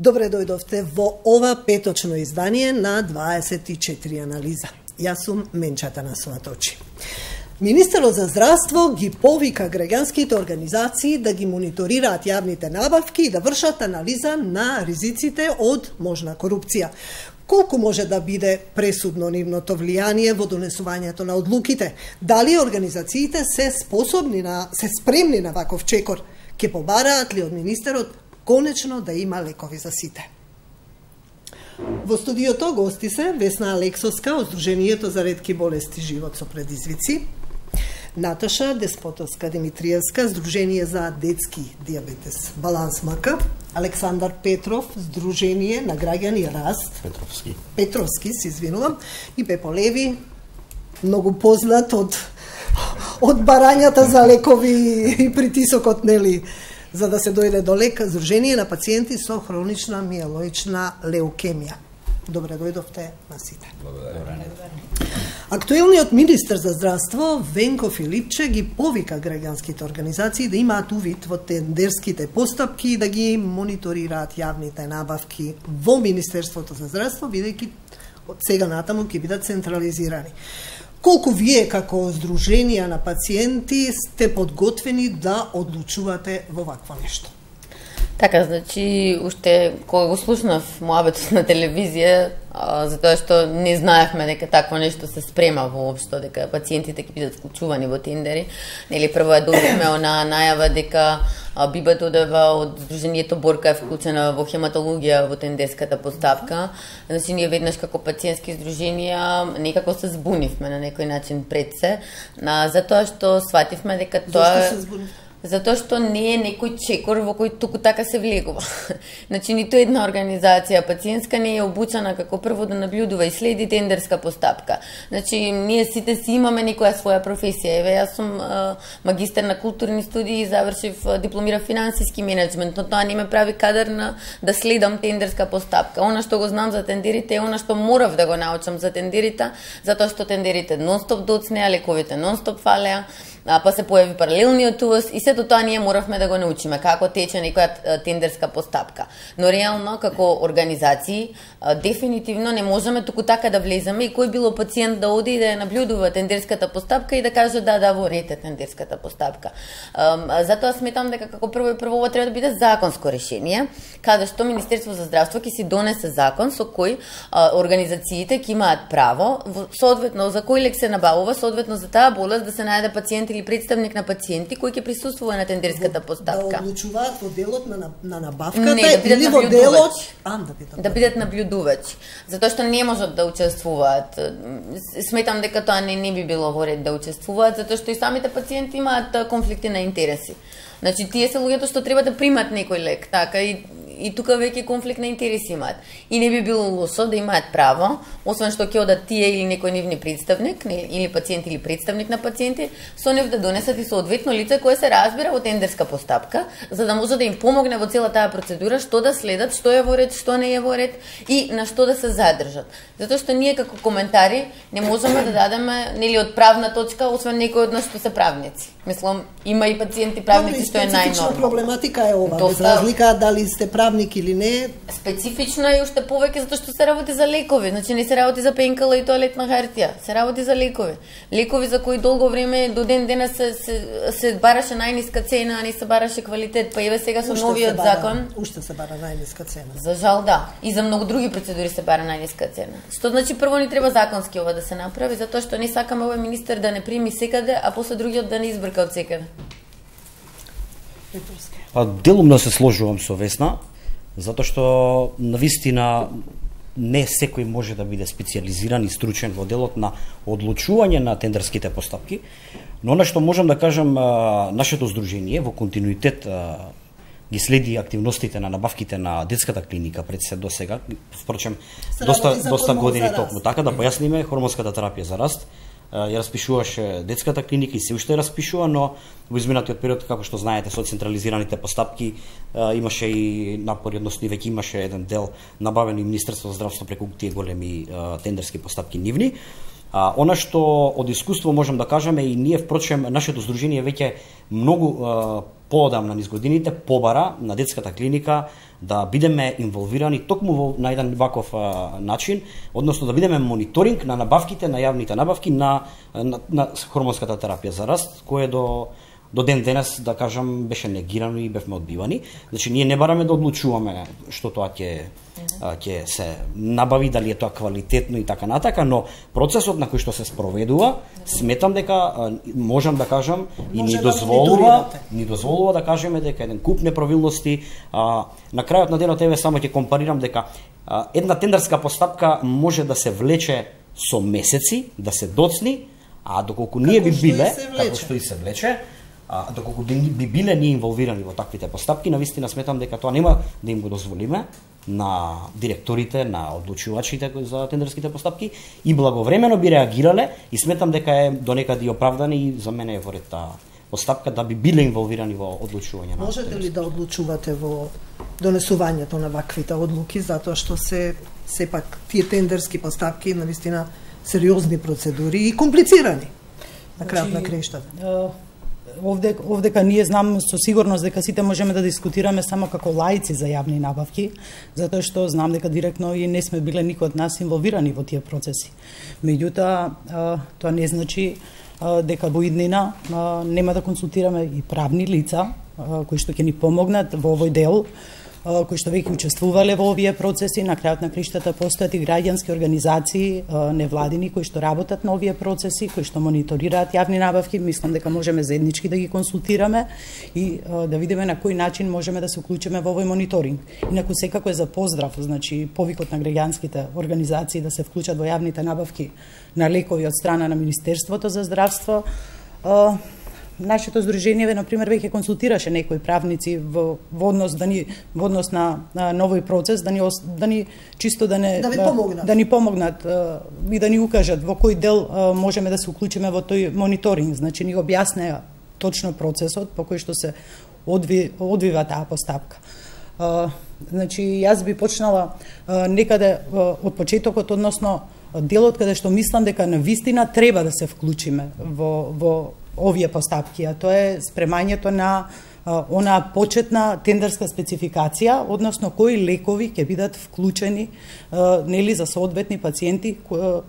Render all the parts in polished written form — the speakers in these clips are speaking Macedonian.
Добре дојдовте во ова петочно издание на 24 анализа. Јас сум Менча Танасоваточи. Министерот за здравство ги повика граѓанските организации да ги мониторираат јавните набавки и да вршат анализа на ризиците од можна корупција. Колку може да биде пресудно нивното влијание во донесувањето на одлуките? Дали организациите се спремни на ваков чекор? Ке побараат ли од министерот конечно да има лекови за сите? Во студиото гости се Весна Алексовска од Сдруженијето за ретки болести живот со предизвици, Наташа Деспотовска Димитриевска, Сдружение за детски диабетес Баланс МК, Александар Петров, Сдружение на граѓани Раст, Петровски, се извинувам, и Пепо Леви, многу познат од барањата за лекови и притисокот, нели, за да се дојде до лек, Сдружение на пациенти со хронична миелоична леукемија. Добре дојдовте на сите. Актуелниот министер за здравство Венко Филипче ги повика граѓанските организации да имаат увид во тендерските постапки и да ги мониторираат јавните набавки во Министерството за здравство, бидејќи од сега натаму ќе бидат централизирани. Колку вие како Сдруженија на пациенти сте подготвени да одлучувате во вакво нешто? Така, значи, уште кога го слушнав муабетот на телевизија, затоа што не знаевме дека такво нешто се спрема воопшто, дека пациентите ќе бидат вклучувани во тендери. Нели прво ја добивме онаа најава дека Биба Тодева од Сдруженијето Борка е вклучена во хематологија во тендерската постапка. Значи, ние веднаш како пациентски здруженија некако се збунивме на некој начин пред се, затоа што свативме дека тоа... Зошто се збунивме? Затоа што не е некој чекор во кој туку така се влегува. Значи, ниту една организација пациентска не е обучена како прво да наблюдува и следи тендерска постапка. Значи, ние сите си имаме некоја своја професија. Еве, јас сум магистар на културни студии и завршив дипломирав финансиски менеджмент, но тоа не ме прави кадар да следам тендерска постапка. Она што го знам за тендерите е она што морав да го научам за тендерите, затоа што тендерите нон-стоп доцнеа, лековите нон-стоп фалеа, па се појави паралелниот увоз и сето тоа ние моравме да го научиме како тече некоја тендерска постапка. Но реално како организации дефинитивно не можеме туку така да влеземе и кој било пациент да оди и да ја наблюдува тендерската постапка и да каже да во ред е тендерската постапка. Затоа сметам дека како прво ова треба да биде законско решение, каде што Министерство за здравство ќе си донесе закон со кој организациите ќе имаат право соодветно за кој лек се набавува, соодветно за таа болест да се најде пациент или представник на пациенти кој ќе присуствува на тендерската постапка. Да одлучуваат во делот на набавката или во делот да бидат наблюдувачи, затоа што не можат да учествуваат. Сметам дека тоа не би било во ред да учествуваат, затоа што и самите пациенти имаат конфликти на интереси. Значи, тие се луѓето што треба да примат некој лек, така и тука веќе конфликт на интереси имаат. И не би било лошо да имаат право, освен што ќе одат тие или некој нивни представник, или пациент или представник на пациенти, со нив да донесат и соодветно лице кое се разбира во тендерска постапка, за да може да им помогне во цела таа процедура, што да следат, што е во ред, што не е во ред и на што да се задржат. Затоа што ние како коментари не можеме да дадеме нели од правна точка, освен некој од нас што се правници. Мислам, има и пациенти правници што е најнормално. Специфична проблематика е ова, без разлика дали сте правник или не. Специфично е уште повеќе затоа што се работи за лекови, значи не се работи за пенкала и тоалетна хартија, се работи за лекови. Лекови за кои долго време до ден денес се бараше најниска цена, а не се бараше квалитет, па еве сега со новиот закон уште се бара најниска цена. За жал да, и за многу други процедури се бара најниска цена. Што значи прво ни треба законски ова да се направи, затоа што не сакаме овој министер да не прими секаде, а после другиот да не избрка од секаде. Делумно се сложувам со Весна, затоа што навистина не секој може да биде специјализиран и стручен во делот на одлучување на тендерските постапки, но она што можам да кажам, нашето здружение во континуитет ги следи активностите на набавките на детската клиника пред се до сега, впрочем доста години токму така, да појасниме хормонската терапија за раст. Ја распишуваше детската клиника и се уште распишува, но во изминатиот период, како што знаете, со централизираните постапки имаше и напори, односно веќе имаше еден дел набавен и Министерство за здравство преку тие големи тендерски постапки нивни. Она што од искуство можам да кажеме и ние, впрочем, нашето здружение веќе многу поодамна низ годините побара на детската клиника да бидеме инволвирани токму на еден ваков начин, односно да бидеме мониторинг на набавките, на јавните набавки на хормонската терапија за раст, кое до ден денес, да кажам, беше негирано и бевме одбивани. Значи, ние не бараме да одлучуваме што тоа ќе се набави, дали е тоа квалитетно и така натака, но процесот на кој што се спроведува, сметам дека можам да кажам и ни дозволува да кажеме дека еден куп неправилности. На крајот на денот еве само ќе компарирам дека една тендерска постапка може да се влече со месеци, да се доцни, а доколку ние би биле, како што и се влече, доколку би биле ние инволвирани во таквите постапки, навистина сметам дека тоа нема да им го дозволиме на директорите, на одлучувачите за тендерските постапки и благовремено би реагирале и сметам дека е донекаде оправдани и за мене е во ред таа постапка да би биле инволвирани во одлучување. Можете ли да одлучувате во донесувањето на ваквите одлуки, затоа што се сепак тие тендерски постапки навистина сериозни процедури и комплицирани на крајот на краиштата? Овдека ние знам со сигурност дека сите можеме да дискутираме само како лаици за јавни набавки, затоа што знам дека директно и не сме биле никој од нас инволвирани во тие процеси. Меѓутоа, тоа не значи дека во иднина нема да консултираме и правни лица кои што ќе ни помогнат во овој дел, кои што веќе учествувале во овие процеси. На крајот на криштата постојат и граѓански организации, невладини, кои што работат на овие процеси, кои што мониторираат јавни набавки. Мислам дека можеме заеднички да ги консултираме и да видиме на кој начин можеме да се уклучиме во овој мониторинг. Инаку секако е за поздрав, значи повикот на граѓанските организации да се вклучат во јавните набавки на лекови од страна на Министерството за здравство. Нашето здружение, например, веќе консултираше некои правници во однос на новој процес, да ни чисто да ни помогнат и да ни укажат во кој дел можеме да се уклучиме во тој мониторинг. Значи ни објаснеа точно процесот по кој што се одвива таа постапка. Значи јас би почнала некаде од почетокот, односно делот каде што мислам дека навистина треба да се вклучиме во овие постапки, а тоа е спремањето на онаа почетна тендерска спецификација, односно кои лекови ќе бидат вклучени нели за соодветни пациенти која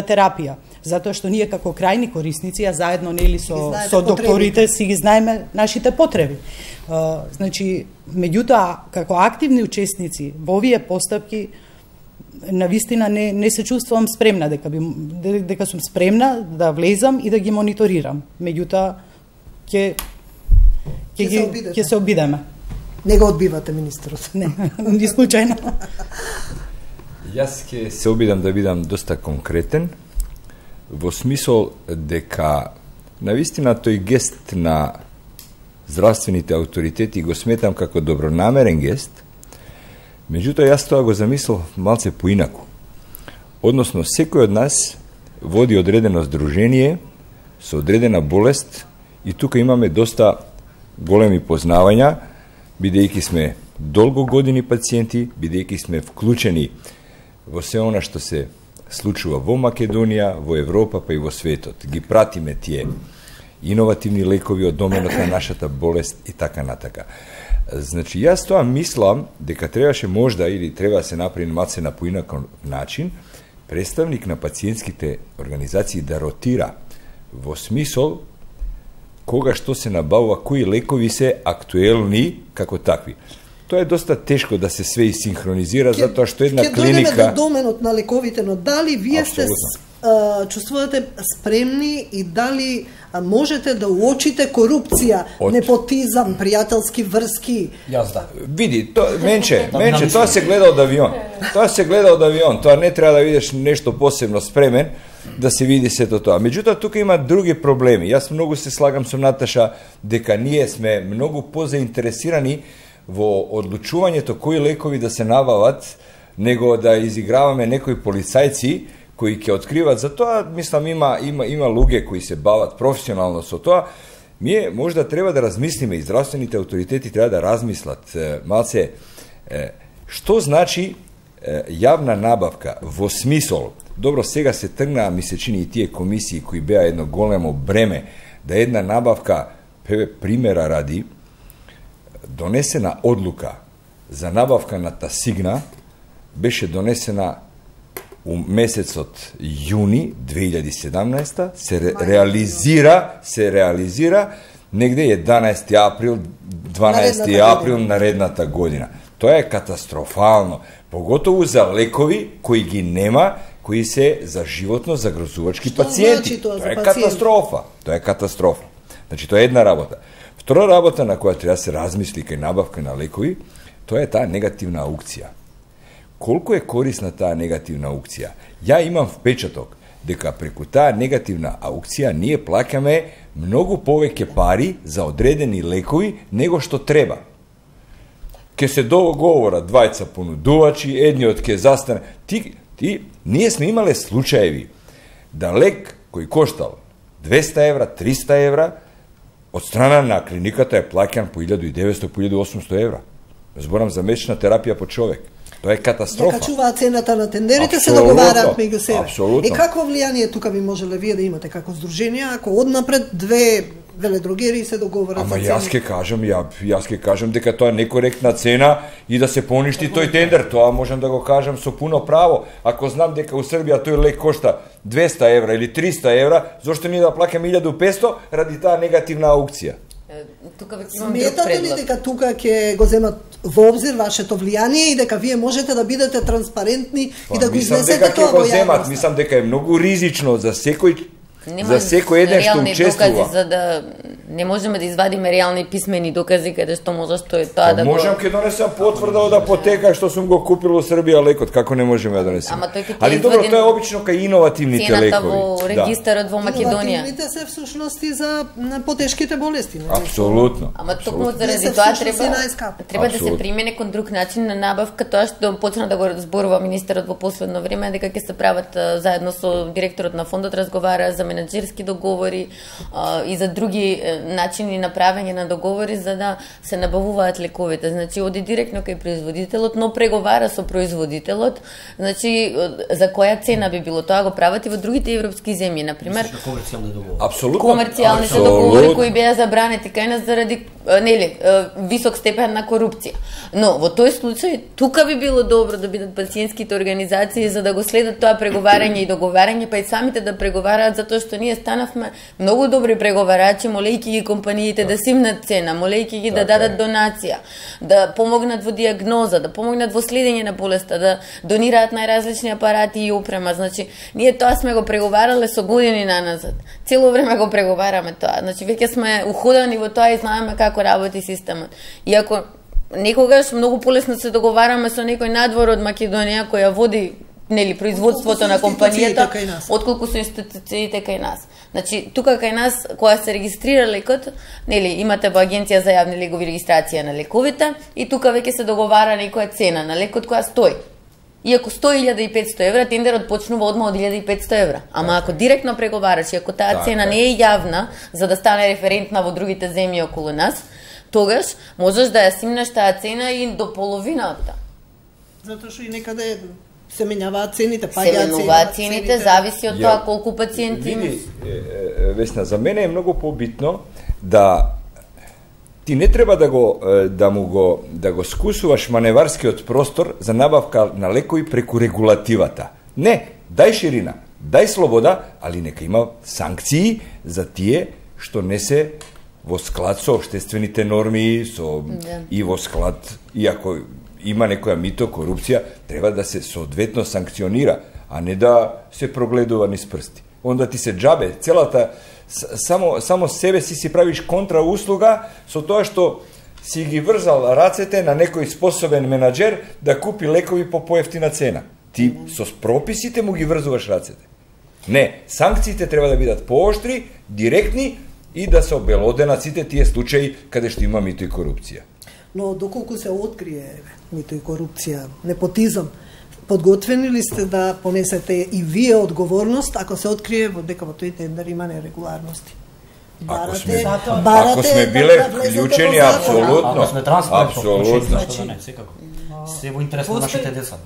терапија, затоа што ние како крајни корисници, а заедно нели со докторите си ги знаеме нашите потреби. Значи, меѓутоа како активни учесници во овие постапки навистина не се чувствувам спремна, дека сум спремна да влезам и да ги мониторирам. Меѓутоа ќе се обидеме. Не го одбивате министерот? Не, ни случајно. Јас ќе се обидам да бидам доста конкретен, во смисол дека навистина тој гест на здравствените авторитети го сметам како добронамерен гест. Меѓутоа, јас тоа го замислил малце поинаку. Односно, секој од нас води одредено здружение со одредена болест и тука имаме доста големи познавања, бидејќи сме долго години пациенти, бидејќи сме вклучени во се она што се случува во Македонија, во Европа, па и во светот. Ги пратиме тие иновативни лекови од доменот на нашата болест и така натака. Значи, јас тоа мислам дека требаше можда или треба да се направи малце на поинаков начин представник на пациентските организации да ротира во смисол кога што се набавува, кои лекови се актуелни како такви. Тоа е доста тешко да се све и синхронизира, затоа што една клиника... Ќе дојдеме до доменот на лековите, но дали вие сте чувствувате спремни и дали можете да уочите корупција, непотизам, пријателски врски? Јас да. Види, менче, тоа се гледа од авион. Тоа не треба да видиш нешто посебно спремен да се види сето тоа. Меѓутоа, тука има други проблеми. Јас многу се слагам со Наташа дека ние сме многу позаинтересирани во одлучувањето кои лекови да се набават, него да изиграваме некои полицајци кои ќе откриват. За тоа, мислам, има луѓе кои се бават професионално со тоа. Ние можда треба да размислиме и здравствените авторитети треба да размислат малце што значи јавна набавка во смисол. Добро, сега се тргнаа, ми се чини, и тие комисии кои беа едно големо бреме, да една набавка примера ради, донесена одлука за набавка на Тасигна беше донесена у месецот јуни 2017, се реализира негде 11 април, 12 април наредната година. Тоа е катастрофално, поготово за лекови кои ги нема, кои се за животно загрозувачки пациенти. Тоа е катастрофа. Тоа е катастрофа. Значи, тоа е една работа. Втора работа на која треба да се размисли кај набавка на лекови, тоа е таа негативна аукција. Колку е корисна таа негативна аукција? Ја имам впечаток дека преку таа негативна аукција ние плаќаме многу повеќе пари за одредени лекови него што треба. Ке се договора двајца понудувачи, едниот ке застане. Ние сме имале случаеви да лек кој коштал 200 евра, 300 евра, од страна на клиниката е плаќан по 1900, по 1800 евра. Зборам за месечна терапија по човек. Тоа е катастрофа. Дека чуваат цената на тендерите, се договараат меѓу себе. Апсолутно. Какво влијание тука би можеле вие да имате како здружение, ако однапред две веледрогери се договорат за цена? Јас ке кажам дека тоа е некоректна цена и да се поништи тој тендер. Тоа можам да го кажам со пуно право. Ако знам дека у Србија тој лек кошта 200 евра или 300 евра, зошто ние да плаќаме 1500 ради таа негативна аукција? Сметате ли дека тука ќе го земат во обзир вашето влијание и дека вие можете да бидете транспарентни и да го изнесете тоа во јавноста? Мислам дека е многу ризично за секој еден што учествува. За да не можеме да извадиме реални писмени докази каде што може што е тоа да го... Можам ке донесам потврда од апотека што сум го купил во Србија лекот, како не можеме да донесеме. Али добро, тоа е обично кај иновативните лекови. Цената во регистарот во Македонија. Иновативните се всушност и за потешките болести. Апсолутно. Ама токму заради тоа треба да се примени кон друг начин на набавка, тоа што почна да го зборува министерот во последно време, дека ќе се прават заедно со директорот на фондот, разговара за менаџерски договори и за други начини на правење на договори за да се набавуваат лековите. Значи, оди директно кај производителот, но преговара со производителот, значи, за која цена би било. Тоа го прават и во другите европски земји, например. Апсолутно. Комерцијалните договори кои беа забранети кај нас заради висок степен на корупција. Но во тој случај тука би било добро да бидат пациентските организации за да го следат тоа преговарање и договарање, па и самите да преговараат, затоа што ние станавме многу добри преговарачи, молејќи ги компаниите да симнат цена, молејќи ги да дадат донација, да помогнат во диагноза, да помогнат во следење на болеста, да донираат најразлични апарати и опрема. Значи, ние тоа сме го преговарале со години наназад. Цело време го преговараме тоа. Значи, веќе сме уходани во тоа и знаеме како работи системот. Иако некогаш многу полесно се договараме со некој надвор од Македонија која води производството на компанијата, отколку со институциите кај нас. Значи, тука кај нас, кога се регистрира лекот, имате во Агенција за јавни легови регистрација на лековите и тука веќе се договара некоја цена на лекот која стои. И ако стои 1500 евра, тендерот почнува одма од 1500 евра. Ама ако директно преговараш и ако таа цена не е јавна, за да стане референтна во другите земји околу нас, тогаш можеш да ја симнеш таа цена и до половината. Затоа што и некаде се менјаваат цените, се менуваат цените, зависи од тоа колку пациенти имаш. Весна, за мене е многу побитно да ти не треба да го скусуваш маневарскиот простор за набавка на лекови преку регулативата. Не, дај ширина, дај слобода, али нека има санкции за тие што не се во склад со општествените норми, и во склад, иако има некоја мито, корупција, треба да се соодветно санкционира, а не да се прогледува низ прсти. Онда ти се џабе, целата, само себе си правиш контрауслуга со тоа што си ги врзал рацете на некој способен менаџер да купи лекови по поевтина цена. Ти со прописите му ги врзуваш рацете. Не, санкциите треба да бидат пооштри, директни и да се обелоденат сите тие случаи каде што има мито и корупција. Но доколку се открие мито и корупција, непотизам, подготвени ли сте да понесете и вие одговорност ако се открие дека во тој тендер има нерегуларности? Ако сме биле вклучени, апсолутно. Ако сме транспарентно, секако. Се во интерес на нашите деца.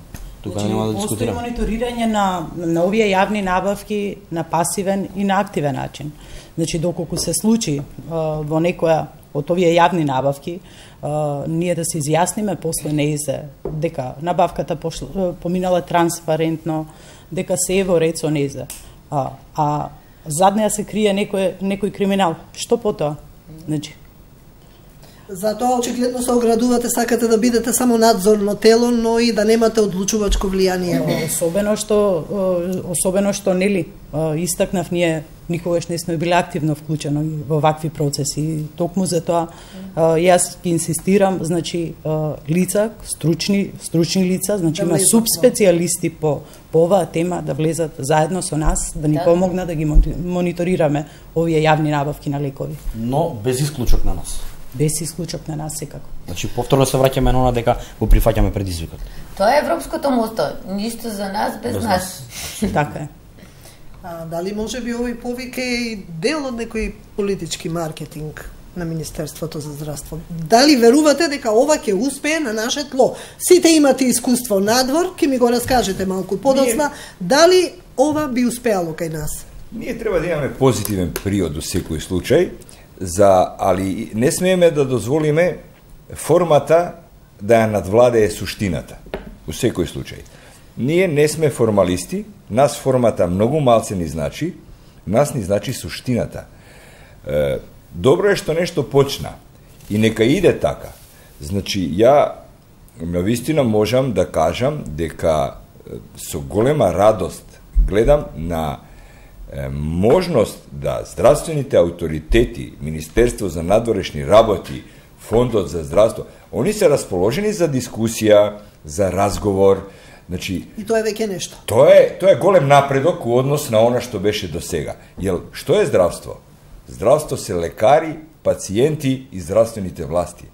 тука нема да дискутираме. Постои мониторирање на овие јавни набавки на пасивен и на активен начин. Значи, доколку се случи во некоја од овие јавни набавки, ние да се изјасниме после неизе дека набавката поминала транспарентно, дека се е во ред со неизе. А зад неа се крие некој криминал. Што потоа? Значи, затоа очигледно се оградувате, сакате да бидете само надзорно тело, но и да немате одлучувачко влијание. Особено што нели истакнав, ние никогаш не сме биле активно вклучени во вакви процеси. Токму за тоа јас ги инсистирам, значи лица, стручни лица, значи има субспецијалисти по оваа тема да влезат заедно со нас, да ни помогнат да ги мониторираме овие јавни набавки на лекови. Но без исклучок на нас. Без исклучок на нас секако. Значи повторно се враќаме на она дека го прифаќаме предизвикот. Тоа е европското мото, ништо за нас без нас. Така е. Дали може би овој повик е и дел од некој политички маркетинг на Министерството за здравство? Дали верувате дека ова ќе успее на наше тло? Сите имате искуство надвор, ќе ми го раскажете малку подоцна, дали ова би успеало кај нас? Ние треба да имаме позитивен приод во секој случај, али не смееме да дозволиме формата да ја надвладее суштината. Во секој случај. Ние не сме формалисти, нас формата многу малце ни значи, нас ни значи суштината. Добро е што нешто почна и нека иде така. Значи, ја навистина можам да кажам дека со голема радост гледам на можност да здравствените авторитети, Министерство за надворешни работи, Фондот за здравство, они се расположени за дискусија, за разговор. Значи, и тоа е веќе нешто. Тоа е голем напредок во однос на она што беше до сега. Што е здравство? Здравство се лекари, пациенти и здравствените власти.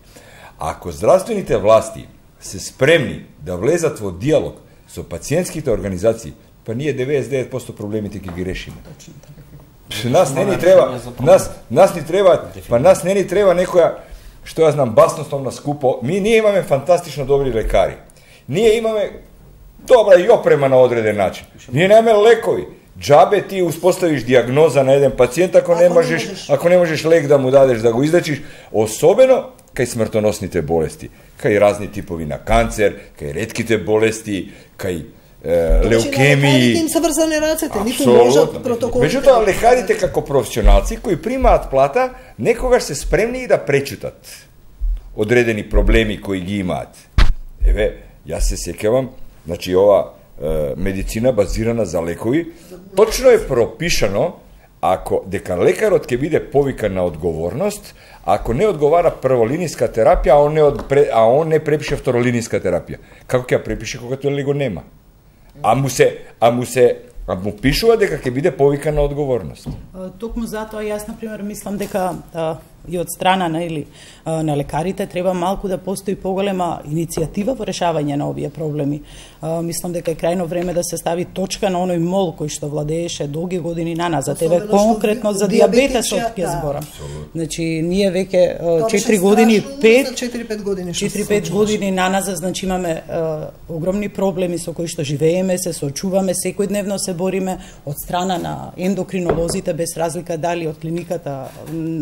Ако здравствените власти се спремни да влезат во диалог со пациентските организации, па ние 99% проблемите ќе ги решиме. Нас не ни треба некоја, што ја знам, баснословна скупо. Ние имаме фантастично добри лекари. Ние имаме добра и опрема на одреден начин. Ние немаме лекови. Джабе ти успоставиш диагноза на еден пациент ако не можеш лек да му дадеш да го излечиш, особено кај смртоносните болести, кај разни типови на канцер, кај ретките болести, кај леукемии. Им се врзани рацете, ниту можат протокол. Меѓутоа, лекарите како професионалци кои примаат плата, некогаш се спремни и да пречутат одредени проблеми кои ги имаат. Јас се сеќавам, значи ова медицина базирана за лекови, точно е пропишано дека лекарот ќе биде повикан на одговорност ако не одговара прволиниска терапија, а он не препише второлиниска терапија. Како ќе ја препише кога тоа го нема? А му пишува дека ќе биде повикан на одговорност. Токму затоа јас на пример мислам дека и од страна на лекарите треба малку да постои поголема иницијатива во решавање на овие проблеми. Мислам дека е крајно време да се стави точка на оној мол кој што владееше долги години наназад. Еве конкретно за дијабетесот ќе зборам. Значи ние веќе 4 години 4-5 години наназад, значи имаме огромни проблеми со кои што живееме, се соочуваме, секојдневно се бориме од страна на ендокринолозите, без разлика дали од клиниката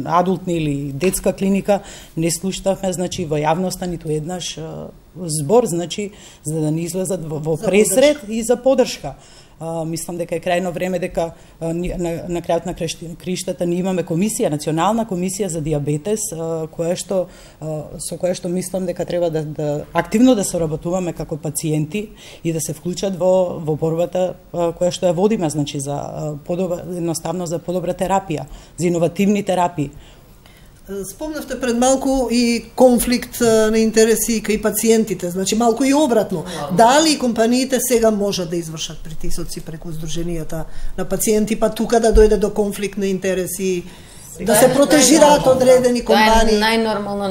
адултни или детска клиника, не слушнавме, значи, во јавноста ниту еднаш збор, значи, за да не излезат во пресред и за подршка. Мислам дека е крајно време дека на крајот на криштата ние имаме комисија, национална комисија за дијабетес, со која што мислам дека треба да активно да соработуваме како пациенти и да се вклучат во борбата која што ја водиме, значи, за едноставно за подобра терапија, за иновативни терапии. Спомнавте пред малку и конфликт на интереси кај пациентите, значи малку и обратно. Дали компаниите сега можат да извршат притисоци преку здруженијата на пациенти, па тука да дојде до конфликт на интереси, да се протежираат одредени компании? Тоа е најнормално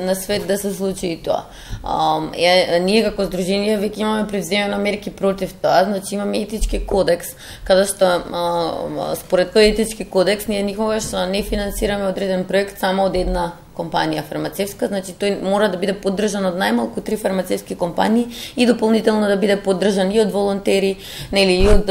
на свет да се случи и тоа. Ние како здружение веќе имаме превземено мерки против тоа, значи имаме етички кодекс, каде што според тој етички кодекс ние никогаш не финансираме одреден проект само од една компанија фармацевтска, значи тој мора да биде поддржан од најмалку 3 фармацевтски компании и дополнително да биде поддржан и од волонтери, нели, и од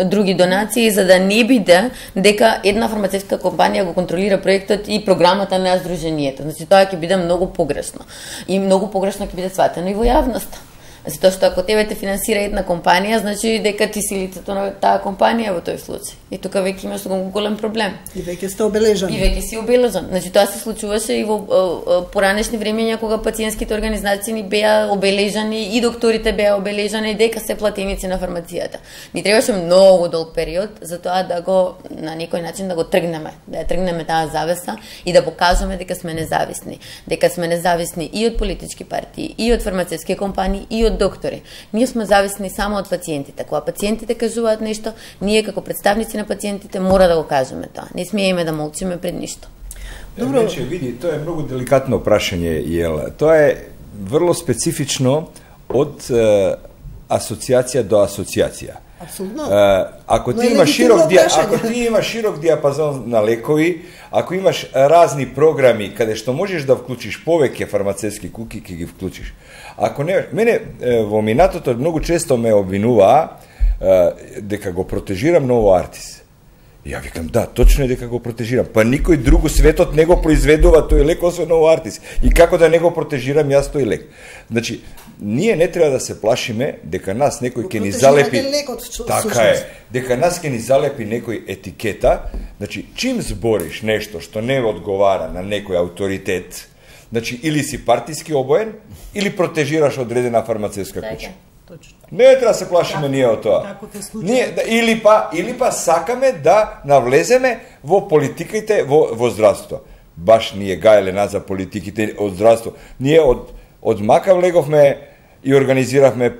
други донации, за да не биде дека една фармацевтска компанија го контролира проектот и програмата на здруженијето. Значи тоа ќе биде многу погрешно. И многу погрешно ќе биде сватено и во јавноста. Затоа што ако тебе те финансира една компанија, значи дека ти си лицето на таа компанија во тој случај. И тука веќе имаш голем проблем. И веќе сте обележани. И веќе си обележан. Значи тоа се случуваше и во поранешни времења кога пациентските организации ни беа обележани и докторите беа обележани дека се платеници на фармацијата. Ни требаше многу долг период за тоа да го на некој начин да го тргнеме, да ја тргнеме таа завеса и да покажеме дека сме независни, дека сме независни и од политички партии, и од фармацевтски компании, и од доктори. Ние сме зависни само од пациентите. Кога пациентите кажуваат нешто, ние како представници на пациентите мора да го кажеме тоа. Не смееме да молчиме пред ништо. Добро. Види, тоа е многу деликатно прашање, Јела. Тоа е врло специфично од асоциација до асоциација. Апсолутно. Ако ти имаш широк диапазон на лекови, ако имаш разни програми каде што можеш да вклучиш повеќе фармацевтски куки, ќе ги вклучиш. Ако не, мене во минатото многу често ме обвинуваа дека го протежирам Ново Артис. Ја викам, да, точно е дека го протежирам. Па никој друг светот не го произведува тој лек освен Ново Артис. И како да не го протежирам јас тој лек? Значи, ние не треба да се плашиме дека нас некој ќе ни залепи. Така е. Дека нас ќе ни залепи некој етикета. Значи, чим збориш нешто што не одговара на некој авторитет, значи или си партиски обоен, или протежираш одредена фармацевтска куќа. Точно. Не треба да се плашиме ние од тоа. Ние или па сакаме да навлеземе во политиките во здравство. Баш ние гаеле нас за политиките од здравство. Ние од мака влеговме и организиравме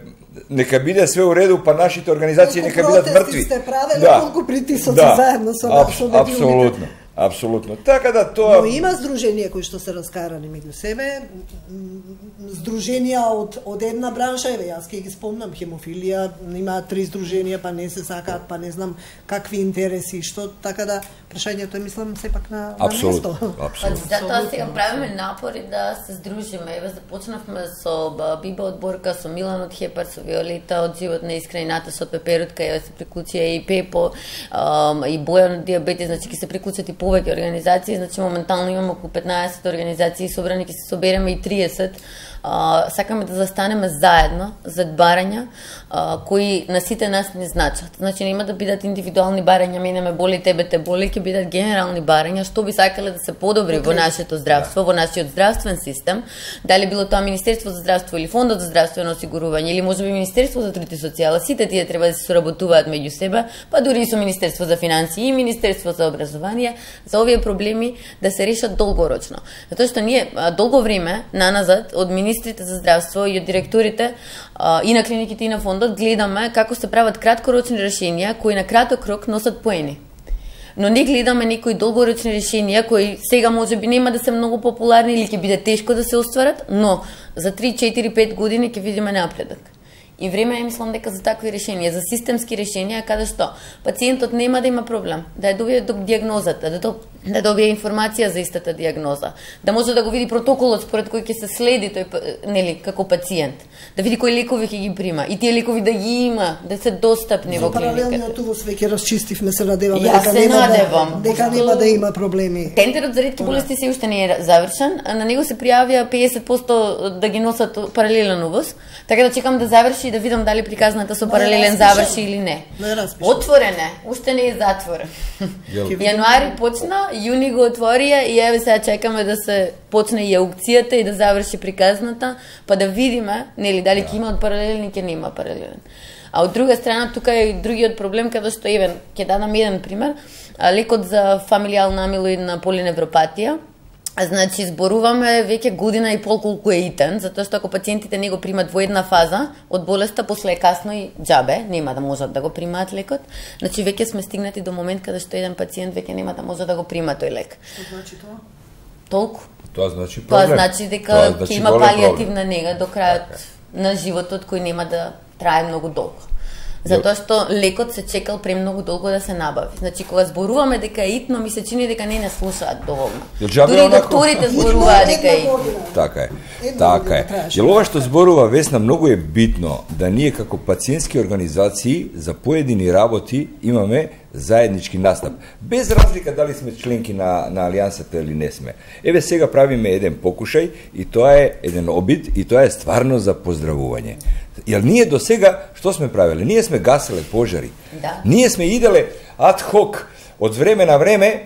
нека биде све уреду, па нашите организации нека бидат мртви. Сте правеле, колку притисоци заедно со нас. Апсолутно. Апсолутно. Така да тоа... Но има здруженија кои што се раскарани меѓу себе, здруженија од една бранша, еве јас ќе ги спомнам, хемофилија, има 3 здруженија, па не се сакаат, па не знам какви интереси, што, така да прашањето е, мислам, сепак на место. Апсолутно. Затоа сега правиме напори да се здружиме. Еве започнавме со Биба од Борка, со Милан од Хепар, со Виолета од Живот на Искрената, со Пеперутка, еве се приклучија и Пепо, и Бојан од Диабетис, значи ќе се приклучат и повеќе организации, значи моментално имаме околу 15 организации собрани, ќе се собереме и 30. Сакаме да застанеме заедно зад барања кои на сите нас не значат. Значи нема да бидат индивидуални барања, мене ме боли, тебе те боли, ќе бидат генерални барања, што би сакале да се подобри во нашето здравство, во нашиот здравствен систем, дали било тоа Министерство за здравство или Фондот за здравствено осигурување или можеби Министерство за труд и социјала, сите тие треба да се соработуваат меѓу себе, па дури и со Министерство за финансии и Министерство за образование, за овие проблеми да се решат долгорочно. Затоа што ние долго време наназад од министрите за здравство и од директорите и на клиниките и на фондот гледаме како се прават краткорочни решенија кои на краток рок носат поени. Но не гледаме некои долгорочни решенија кои сега можеби нема да се многу популарни или ќе биде тешко да се остварат, но за 3, 4, 5 години ќе видиме напредок. И време е, мислам, дека за такви решенија, за системски решенија, каде што пациентот нема да има проблем, да ја добие диагнозата, да добие информација за истата диагноза, да може да го види протоколот според кој ќе се следи тој, нели, како пациент, да види кои лекови ќе ги прима и тие лекови да ги има, да се достапни во клиниката. За паралелниот увоз веќе расчистивме, се надеваме дека нема да има проблеми. Тендерот за ретки болести се уште не е завршен, на него се пријавија 50% да ги носат паралелен увоз, така да чекам да заврши и да видам дали приказната со паралелен заврши или не. Отворен е, уште не е затворен. Јануари почна, јуни го отворија и еве сега чекаме да се почне и аукцијата и да заврши приказната, па да видиме, нели, дали ќе има од паралелен и ќе нема паралелен. А од друга страна, тука е другиот проблем, каде што, еве, ќе дадам еден пример, лекот за фамилијална амилоидна полиневропатија. Значи, зборуваме веќе година и пол колку е итен, затоа што ако пациентите не го примат во една фаза од болеста, после е касно и џабе, нема да можат да го примаат лекот. Значи, веќе сме стигнати до момент каде што еден пациент веќе нема да може да го прима тој лек. Што значи тоа? Толку. Тоа значи проблем. Тоа значи дека ќе има палијативна нега до крајот на животот, кој нема да трае многу долго. Затоа што лекот се чекал премногу долго да се набави. Значи кога зборуваме дека е итно, ми се чини дека не слушаат доволно. Дури докторите зборуваат дека е итно. Така е. Така е. Јел ова што зборува Весна многу е битно да ние како пациентски организации за поедини работи имаме заеднички настап. Без разлика дали сме членки на Алијансата или не сме. Еве сега правиме еден покушај и тоа е еден обид и тоа е стварно за поздравување. Јер ние до сега што сме правеле? Ние сме гаселе пожари. Да. Ние сме иделе ад хок од време на време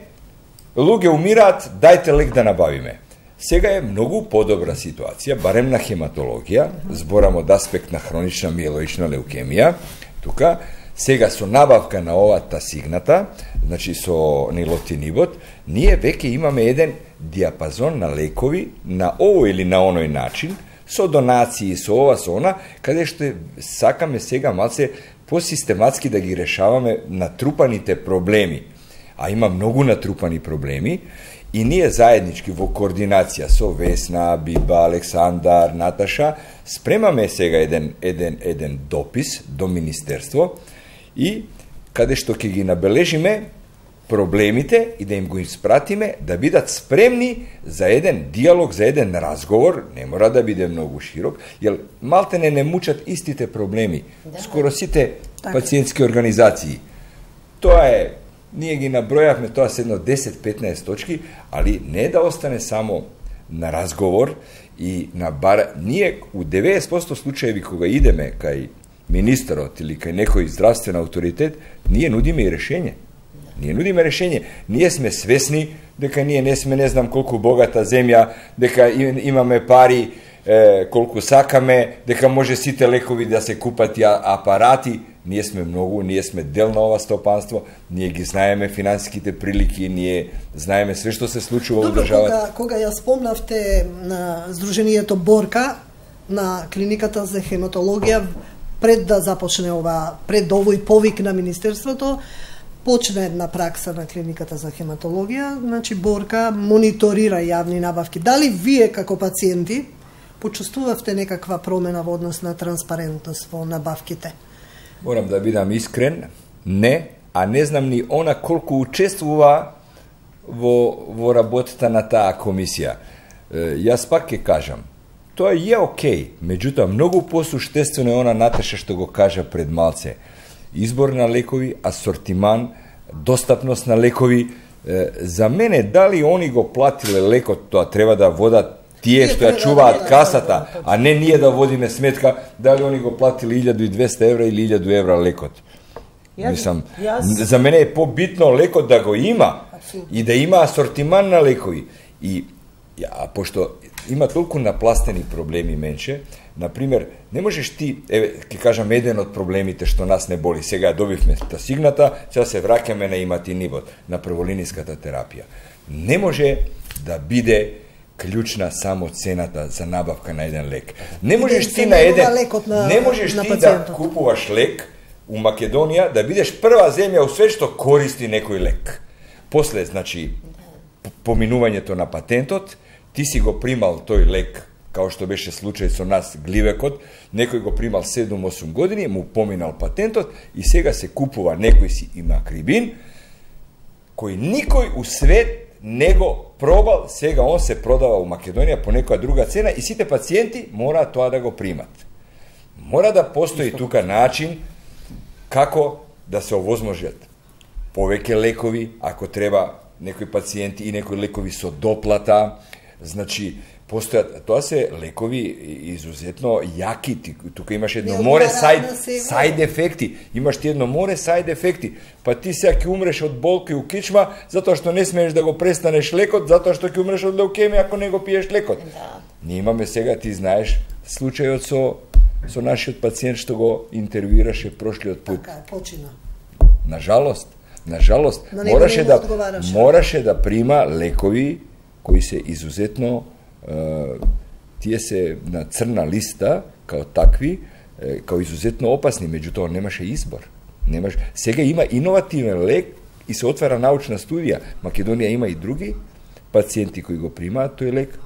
луѓе умираат, дајте лек да набавиме. Сега е многу подобра ситуација, барем на хематологија, зборам од аспект на хронична миелоична леукемија. Тука сега со набавка на овата сигната, значи со нилотинибот, ние веќе имаме еден диапазон на лекови на овој или на оној начин, со донации, со ова, со она, каде што сакаме сега малце посистематски да ги решаваме натрупаните проблеми. А има многу натрупани проблеми и ние заеднички во координација со Весна, Биба, Александар, Наташа, спремаме сега еден допис до Министерство и каде што ќе ги набележиме проблемите и да им го испратиме да бидат спремни за еден диалог, за еден разговор, не мора да биде многу широк, јел малтене не мучат истите проблеми, скоро сите пациентски организации. Тоа е, ние ги набројавме, тоа се едно 10-15 точки, али не да остане само на разговор и на бар. Ние у 90% случаеви кога идеме кај министерот или кај некој здравствен авторитет, ние нудиме и решење. Ние сме свесни дека ние не сме не знам колку богата земја, дека имаме пари колку сакаме, дека може сите лекови да се купат и апарати. Ние сме дел на ова стопанство, ние ги знаеме финансиските прилики, ние знаеме све што се случува во државата. Кога ја спомнавте на Сдруженијето Борка, на клиниката за хематологија, пред да започне пред овој повик на Министерството, почна една пракса на клиниката за хематологија, значи Борка мониторира јавни набавки. Дали вие како пациенти почувствувавте некаква промена во однос на транспарентност во набавките? Морам да бидам искрен, не, а не знам ни она колку учествува во работата на таа комисија. Јас пак ќе кажам, тоа е окей, меѓутоа многу посуштествено е она Наташа што го кажа пред малце. Избор на лекови, асортиман, достапност на лекови. За мене, дали они го платиле лекот, тоа треба да водат тие што ја чуваат касата, а не ние да водиме сметка дали они го платили 1200 евра или 1000 евра лекот. Мислам, за мене е побитно лекот да го има и да има асортиман на лекови. И пошто има толку напластени проблеми, менче, например, не можеш ти, ќе кажам еден од проблемите што нас не боли, сега добивме сигната, сега се враќаме на иматинибот, на прволиниската терапија. Не може да биде клучна само цената за набавка на еден лек. Не можеш ти да купуваш лек у Македонија, да бидеш прва земја у свет што користи некој лек. После, значи, поминувањето на патентот, ти си го примал тој лек, као што беше случај со нас гливекот, некој го примал 7-8 години, му поминал патентот и сега се купува некој си имакрибин, кој никој у свет не го пробал, сега он се продава у Македонија по некоја друга цена и сите пациенти мора тоа да го примат. Мора да постои тука начин како да се овозможат повеќе лекови, ако треба некои пациенти и некои лекови со доплата, значи постојат, тоа се лекови изузетно јаки, тука имаш едно море сајд ефекти, имаш ти едно море сајд ефекти, па ти сега ќе умреш од болка и у кичма, затоа што не смееш да го престанеш лекот, затоа што ќе умреш од леукемија ако не го пиеш лекот. Да. Ние имаме сега, ти знаеш, случајот со нашиот пациент што го интервјуираше прошлиот пут. Така, почина. Нажалост, мораше да прима лекови кои се изузетно тие се на црна листа као такви, као изузетно опасни, меѓутоа немаше избор. Сега има иновативен лек и се отвара научна студија. Македонија има и други пациенти кои го примаат тој лек.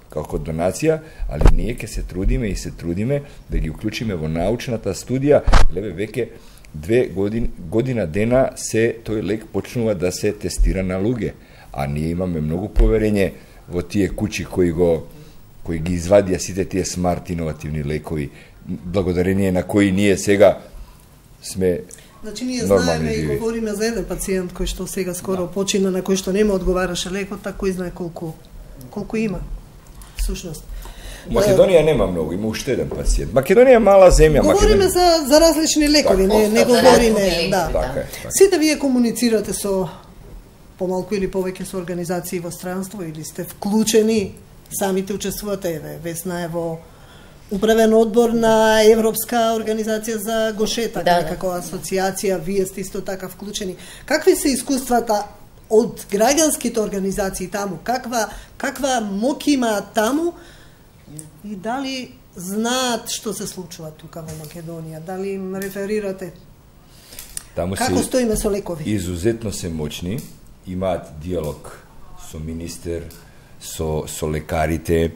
како донација, али ние ќе се трудиме и се трудиме да ги уклучиме во научната студија. Леве веќе 2 година дена се тој лек почнува да се тестира на луѓе, а ние имаме многу поверење во тие куќи кои ги извадија сите тие смарт иновативни лекови, благодарение на кои ние сега сме. Значи, ние знаеме и говориме за еден пациент кој што сега скоро почина, на кој што нема одговараше лекот, а кој знае колку има, всушност. Македонија нема многу, има уште еден пациент. Македонија е мала земја. Говориме за различни лекови, не говориме, да. Така. Сите вие комуницирате со помалку или повеќе со организации во странство или сте вклучени, самите учествувате, Весна е во управен одбор на Европска организација за гошетак, како асоциација, вие сте исто така вклучени. Какви се искуствата од граѓанските организации таму? Каква моќ имаат таму? И дали знаат што се случува тука во Македонија? Дали им реферирате? Таму како стоиме со лекови? Изузетно се моćни, имаат диалог со министер, со лекарите.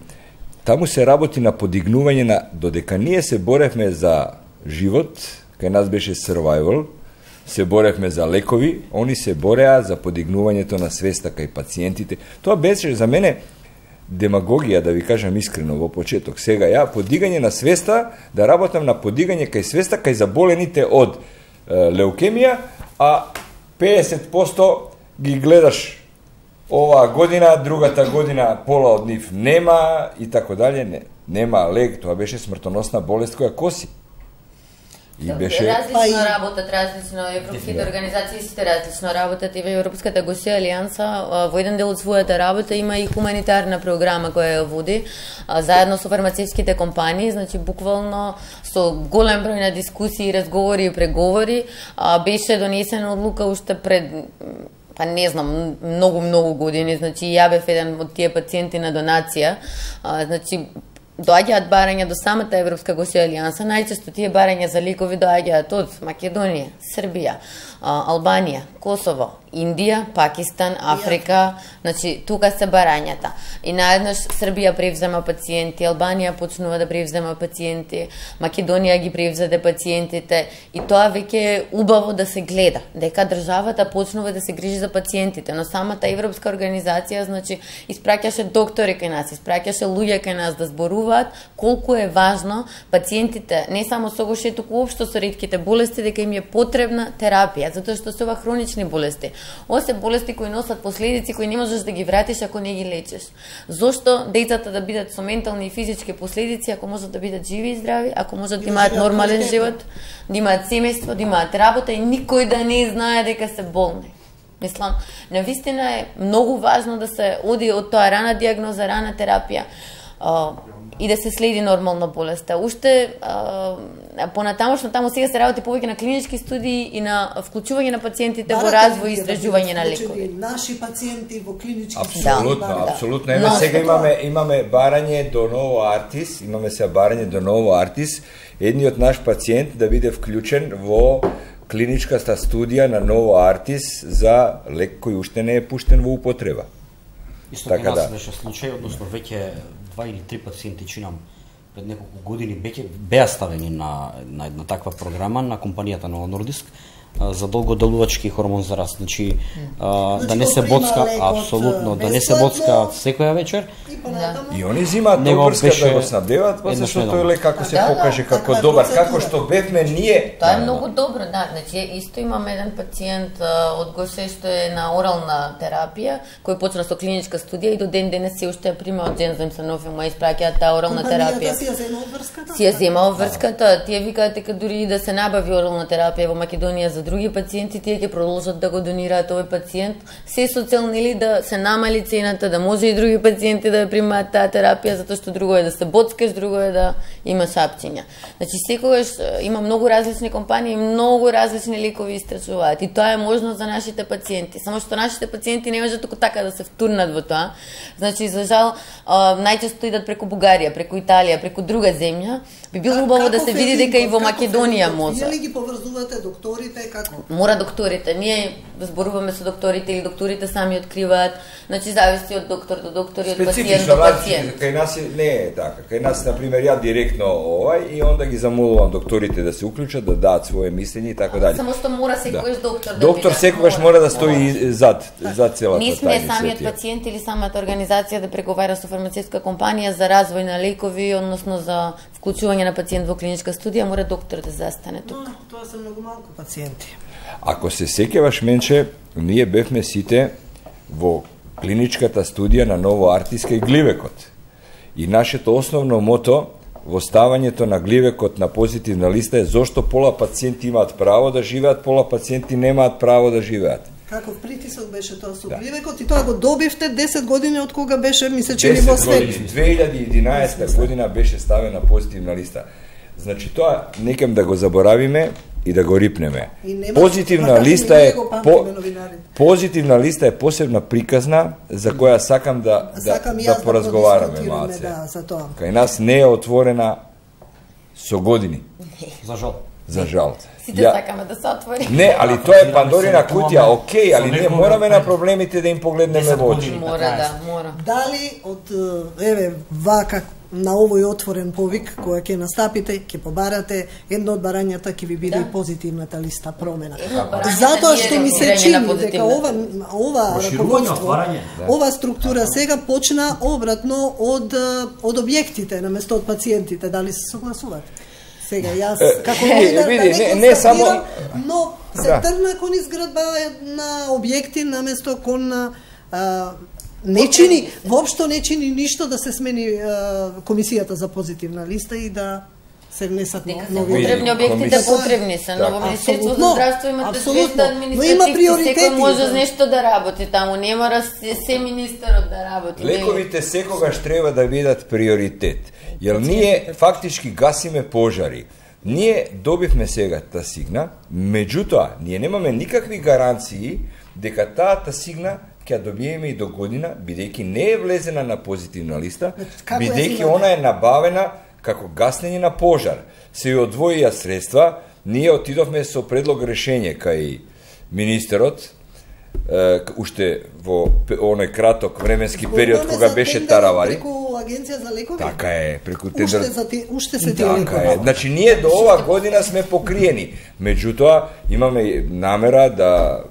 Таму се работи на подигнување на, додека ние се боревме за живот, кај нас беше survival, се боревме за лекови, они се бореа за подигнувањето на свеста кај пациентите. Тоа беше за мене демагогија, да ви кажам искрено во почеток. Сега ја подигање на свеста, да работам на подигање кај свеста кај заболените од леукемија, а 50% ги гледаш оваа година, другата година пола од нив нема и така дале, нема лек, тоа беше смртоносна болест која коси. И беше различно работат, различно европските организации сите различно работат, и во Европската гошја алијанса во еден дел од својата работа има и хуманитарна програма која ја води заедно со фармацевтските компании, значи буквално со голем број на дискусии, разговори и преговори беше донесена одлука уште пред не знам, многу години, значи ја бев еден од тие пациенти на донација, значи доаѓаат барања до самата Европска гошја алијанса, најчесто тие барања за лекови доаѓаат од Македонија, Србија, Албанија, Косово, Индија, Пакистан, Африка, значи тука се барањата. И наеднаш Србија превзема пациенти, Албанија почнува да превзема пациенти, Македонија ги превзеде пациентите, и тоа веќе е убаво да се гледа, дека државата почнува да се грижи за пациентите, но самата Европска организација, значи, испраќаше доктори кај нас, испраќаше луѓе кај нас да зборуваат колку е важно пациентите, не само со гошеток, туку уопшто со ретките болести, дека им е потребна терапија, затоа што се ова хронични болести. Ова се болести кои носат последици кои не можеш да ги вратиш ако не ги лечиш. Зошто децата да бидат со ментални и физички последици ако можат да бидат живи и здрави, ако можат да имаат нормален живот, да имаат семејство, да имаат работа и никој да не знае дека се болни. Мислам, навистина е многу важно да се оди од тоа рана диагноза, рана терапија и да се следи нормално болеста. Уште понатамошно таму сега се работи повеќе на клинички студии и на вклучување на пациентите во развој и истражување на лекови. Наши пациенти во клинички студии. Апсолутно. Сега имаме барање до Ново Артис, имаме сега барање до Ново Артис, едниот наш пациент да биде вклучен во клиничката студија на Ново Артис за лек кој уште не е пуштен во употреба. Исто кај нас беше случај, односно веќе 2 или 3 пациенти, чинам, пред неколку години беа ставени на една таква програма на компанијата Нова Нордиск за долгоделувачки хормон за раст. Значи, да не се боцка, апсолутно, да не се боцка секоја вечер. И они зимаат обврска да го снабдеваат, зашто тој лек како се покаже како добар, како што бевме ние. Тоа е многу добро, да. Значи, исто имаме еден пациент од Гоше што е на орална терапија, кој почна со клиничка студија и до ден денес се уште ја прима од Джензем Санофи, му испраќаат таа орална терапија. Си ја зема обврската? Си ја зема обврската. Тие викаат дека дури и да се набави орална терапија во Македонија за други пациенти, тие ќе продолжат да го донираат овој пациент. Се со цел нели да се намали цената, да може и други пациенти да ја примаат таа терапија, затоа што друго е да се боцкаш, друго е да имаш апчиња. Значи секогаш има многу различни компании, многу различни лекови истражуваат и тоа е можно за нашите пациенти. Само што нашите пациенти не можат току така да се втурнат во тоа. Значи за жал најчесто идат преку Бугарија, преку Италија, преку друга земја. Би било убаво да се види дека и во Македонија може. Вие ли ги поврзувате докторите, како? Мора докторите. Ние зборуваме со докторите или докторите сами откриваат. Значи зависи од доктор до доктор и од пациент до пациент. Кај нас не е така. Кај нас на пример ја директно и онда ги замолувам докторите да се уклучат, да дадат свое мислење и така дале. Само што мора секогаш доктор да доктор секогаш мора да стои зад целата Не сме самиот пациент или самата организација да преговара со фармацевтска компанија за развој на лекови, односно за вклучување на пациент во клиничка студија, мора доктор да застане тука. Тоа се многу малку пациенти. Ако се сеќаваш, Менче, ние бевме сите во клиничката студија на Ново Артиска и Гливекот. И нашето основно мото во ставањето на Гливекот на позитивна листа е зошто пола пациенти имаат право да живеат, пола пациенти немаат право да живеат. Каков притисок беше тоа со Гливекот и тоа го добивте 10 години од кога беше, мисле, че во свет. 2011 година беше ставена позитивна листа. Значи тоа некем да го заборавиме и да го рипнеме. Позитивна листа е посебна приказна за која сакам да поразговараме малце. Кај нас не е отворена со години. За жал. Сите сакаме да се отвори. Не, али тоа е Пандорина кутија, окей, али не мораме на проблемите да им погледнеме во очи. Мора. Дали од вака на овој отворен повик која ќе настапите, ќе побарате, едно од барањата ќе ви биде и позитивната листа промена. Затоа што ми се чини дека ова раководство, ова структура сега почна обратно од објектите наместо од пациентите. Дали се согласувате? Сега јас како не само, но се тргна кон изградба на објекти наместо кон не чини, воопшто не чини ништо да се смени комисијата за позитивна листа и да се внесат нови потребни објектите потребни се, но во Министерството за здравство имате 200 административци, секој може нешто да работи таму, не мора се министерот да работи. Лековите секогаш треба да бидат приоритет, јер ние фактички гасиме пожари. Ние добивме сега тасигна, меѓутоа ние немаме никакви гаранции дека таа тасигна ќе добиеме и до година, бидејќи не е влезена на позитивна листа, бидејќи она е набавена како гаснење на пожар. Се одвоија средства, ние отидовме со предлог решење кај министерот, уште во оној краток временски период кога беше Таравари. Преку Агенција за лекови? Така е, преку тендер. Уште се тие лекови. Значи ние до ова година сме покриени. Меѓутоа имаме намера да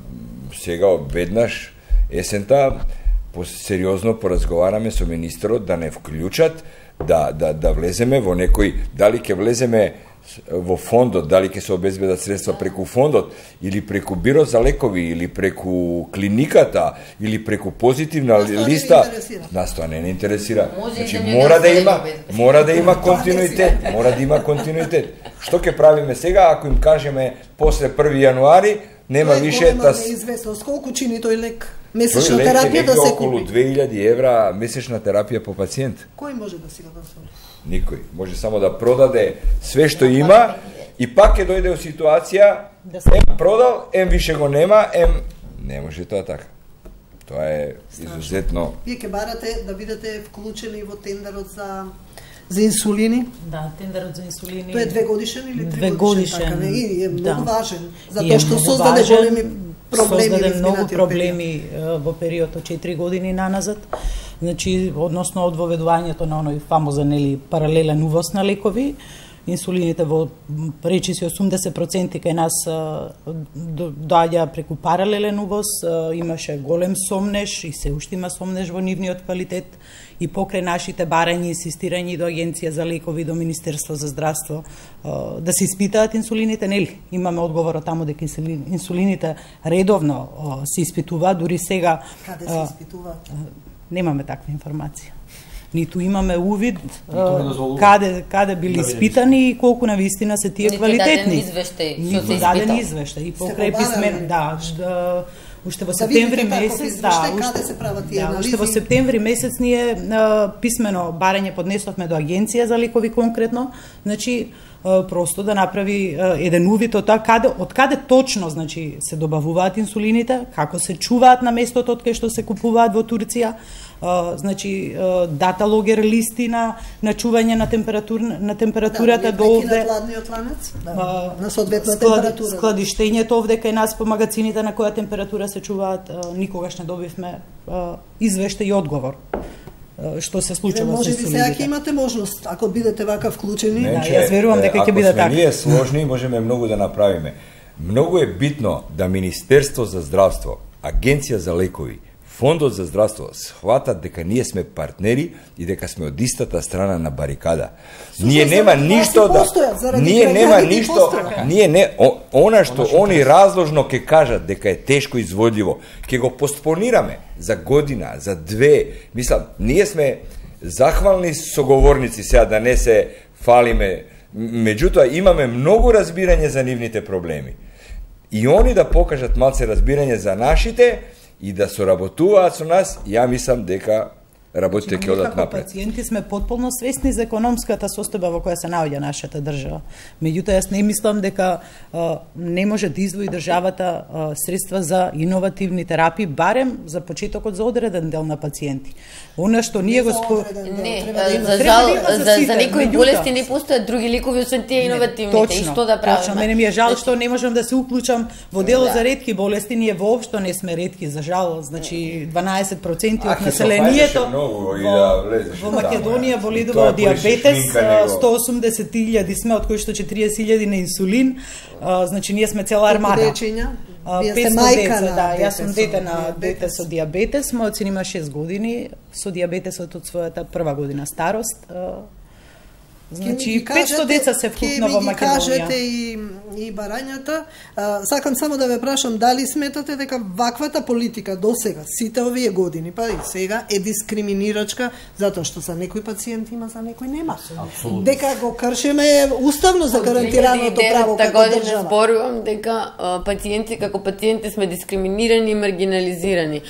сега веднаш есента сериозно поразговараме со министерот да не вклучат, да влеземе во некој, дали ќе влеземе во фондот, дали ќе се обезбедат средства преку фондот, или преку бирот за лекови, или преку клиниката, или преку позитивна листа, нас тоа не интересира. Значи мора да има континуитет, Што ќе правиме сега ако им кажеме после 1 јануари нема више неизвестно колку чини тој лек? Месечна терапија да се купи. Околу 2000 евра месечна терапија по пациент. Кој може да си го дозволи? Никој. Може само да продаде све што има и пак ќе дојде во ситуација продал, више го нема, не може тоа така. Тоа е изузетно. Вие ќе барате да бидете вклучени во тендерот за инсулини? Да, тендерот за инсулини. Тоа е 2 годишен или 3 годишен? Така, не, е многу важен, затоа што создаде големи проблеми. Создаде многу проблеми во период од 4 години наназад. Значи, односно од воведувањето на оној фамозен паралелен увоз на лекови, инсулините во речиси 80% кај нас доаѓа преку паралелен увоз, имаше голем сомнеж и се уште има сомнеж во нивниот квалитет и покрај нашите барања и инсистирања до Агенција за лекови, до Министерство за здравство да се испитаат инсулините, нели? Имаме одговорот таму дека инсулините редовно се испитуваат, дури сега Каде се испитуваат? Немаме таква информација. Ниту имаме увид каде били испитани и колку навистина се тие квалитетни. Ниту даден извештај и покрај писмен, уште во септември месец, уште во септември месец ние писмено барање поднесовме до Агенција за лекови конкретно, значи просто да направи еден увид од тоа од каде точно значи се добавуваат инсулините, како се чуваат на местото од кај што се купуваат во Турција, значи дата логер листи на чување на температурата до овде. На хладниот ланец, на соодветна температура. Складиштењето овде кај нас по магазините на која температура се чуваат, никогаш не добивме извештај и одговор. Што се случува со солидите. Може би сега имате можност, ако бидете вака вклучени. Јас верувам дека ќе биде така. Ако сме ние сложни, можеме многу да направиме. Многу е битно да Министерство за здравство, Агенција за лекови, Фондот за здравство схватат дека ние сме партнери и дека сме од истата страна на барикада. Ние нема ништо да она што они разложно ќе кажат дека е тешко изводливо, ќе го постпонираме за година, за две. Мислам, ние сме захвални соговорници сега да не се фалиме, меѓутоа имаме многу разбирање за нивните проблеми. И они да покажат малце разбирање за нашите и да соработуваат со нас, ја мислам дека работите ќе одат напред. Пациенти сме потполно свесни за економската состојба во која се наоѓа нашата држава. Меѓутоа, јас не мислам дека не може да издвои државата средства за иновативни терапии, барем за почетокот за одреден дел на пациенти. Она што ние го за некои болести не постојат други лекови освен тие иновативните. И што да правиме? Точно, мене ми е жал што не можам да се уклучам во делот за ретки болести. Ние воопшто не сме ретки, за жал. Значи 12% од населението во Македонија боледува од диабетес, 180.000 сме, од кои што 40.000 на инсулин. Значи ние сме цела армада. Вие сте мајка на дете. Јас сум дете на дете со диабетес, мојот син има 6 години со диабетесот од својата прва година старост. Значи 500 деца се вкупно во Македонија. Кажете и барањата. Сакам само да ве прашам дали сметате дека ваквата политика до сега, сите овие години, па и сега е дискриминирачка затоа што за некои пациенти има, за некои нема. Абсолютно. Дека го кршиме уставно за гарантираното право како држава. Зборувам дека како пациенти сме дискриминирани и маргинализирани.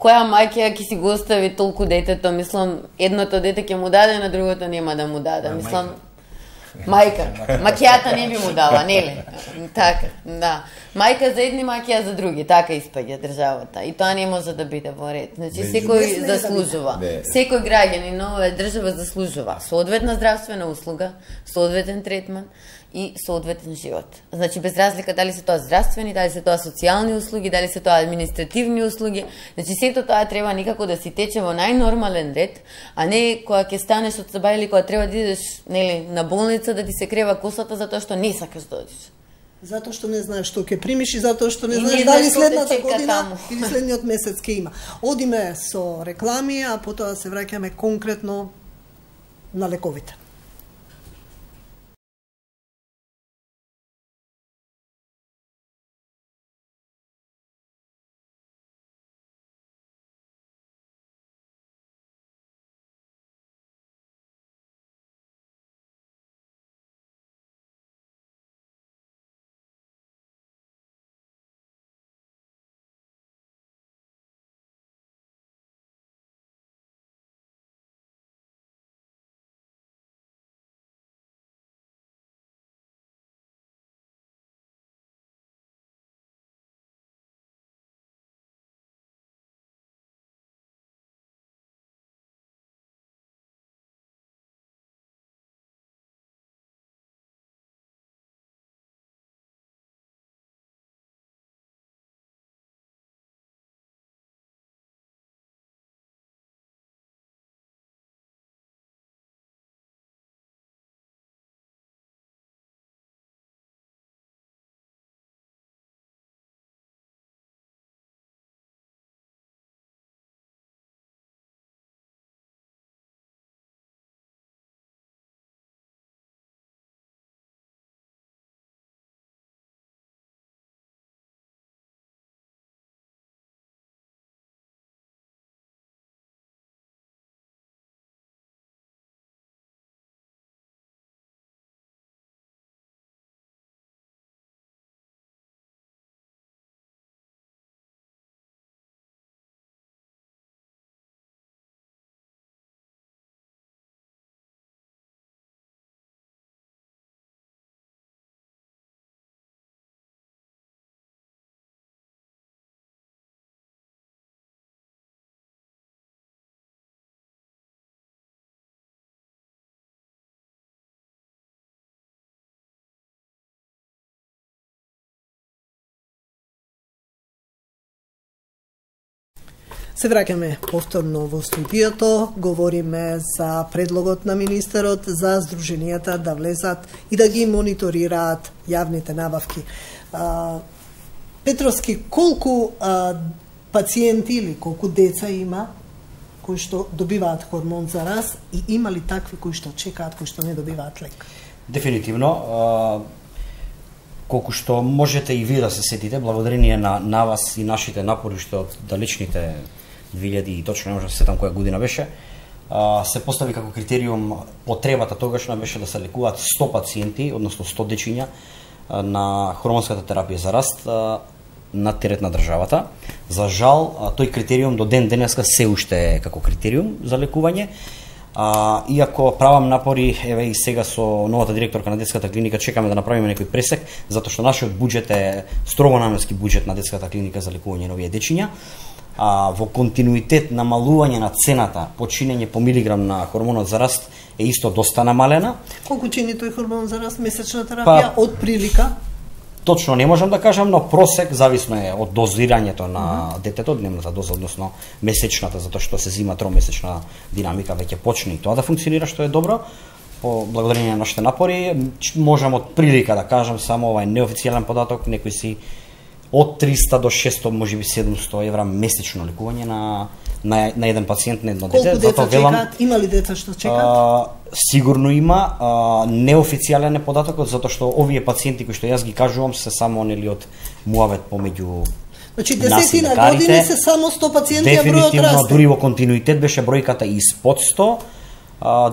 Која мајка ќе си го остави толку детето? Мислам, едното дете ќе му даде, на другото нема да му даде. Мислам, мајка. Макијата не би му дала, нели? Така, да. Мајка за едни, макија за други, така испаѓа државата. И тоа не може да биде во ред. Значи, секој заслужува. Секој граѓанин на оваа држава заслужува соодветна здравствена услуга, соодветен третман и соодветен живот. Значи, без разлика дали се тоа здравствени, дали се тоа социјални услуги, дали се тоа административни услуги. Значи, сето тоа треба некако да си тече во најнормален ред, а не кога ќе станеш од саба или кога треба да идеш, нели, на болница да ти се крева косата затоа што не сакаш да одиш. Затоа што не знаеш што ќе примиш и затоа што не знаеш дали следната година или следниот месец ќе има. Одиме со реклами, а потоа се враќаме конкретно на лековите. Се враќаме повторно во студиото, говориме за предлогот на министерот за здруженијата да влезат и да ги мониторираат јавните набавки. Петровски, колку пациенти или колку деца има кои што добиваат хормон за раст и има ли такви кои што чекаат, кои што не добиваат лек? Дефинитивно, колку што можете и вие да се сетите, благодарение на вас и нашите напори што од далечните 2000 и точно не можам да се сетам која година беше, се постави како критериум потребата тогашна беше да се лекуваат 100 пациенти, односно 100 дечиња на хормонската терапија за раст на терет на државата. За жал, тој критериум до ден денеска се уште е како критериум за лекување. Иако правам напори, еве и сега со новата директорка на детската клиника чекаме да направиме некој пресек, затоа што нашиот буџет е строго наменски буџет на детската клиника за лекување на овие дечиња. Во континуитет намалување на цената по чинење по милиграм на хормонот за раст е исто доста намалена. Колку чини тој хормон за раст месечна терапија од прилика? Точно не можам да кажам, но просек зависно е од дозирањето на детето, дневната доза, односно месечната, затоа што се зима тромесечна динамика, веќе почне и тоа да функционира, што е добро. По благодарение на нашите напори, можам од прилика да кажам само ова е неофицијален податок, некои си од 300 до 600, можеби 700 евра месечно лекување на еден пациент, на едно дете. Колку деца чекаат? Има ли деца што чекаат? Сигурно има, неофицијален е податокот, затоа што овие пациенти кои што јас ги кажувам се само нели од муавет помеѓу значи десетина години се само 100 пациенти, а бројот расте. Дефинитивно, дури во континуитет беше бројката испод 100.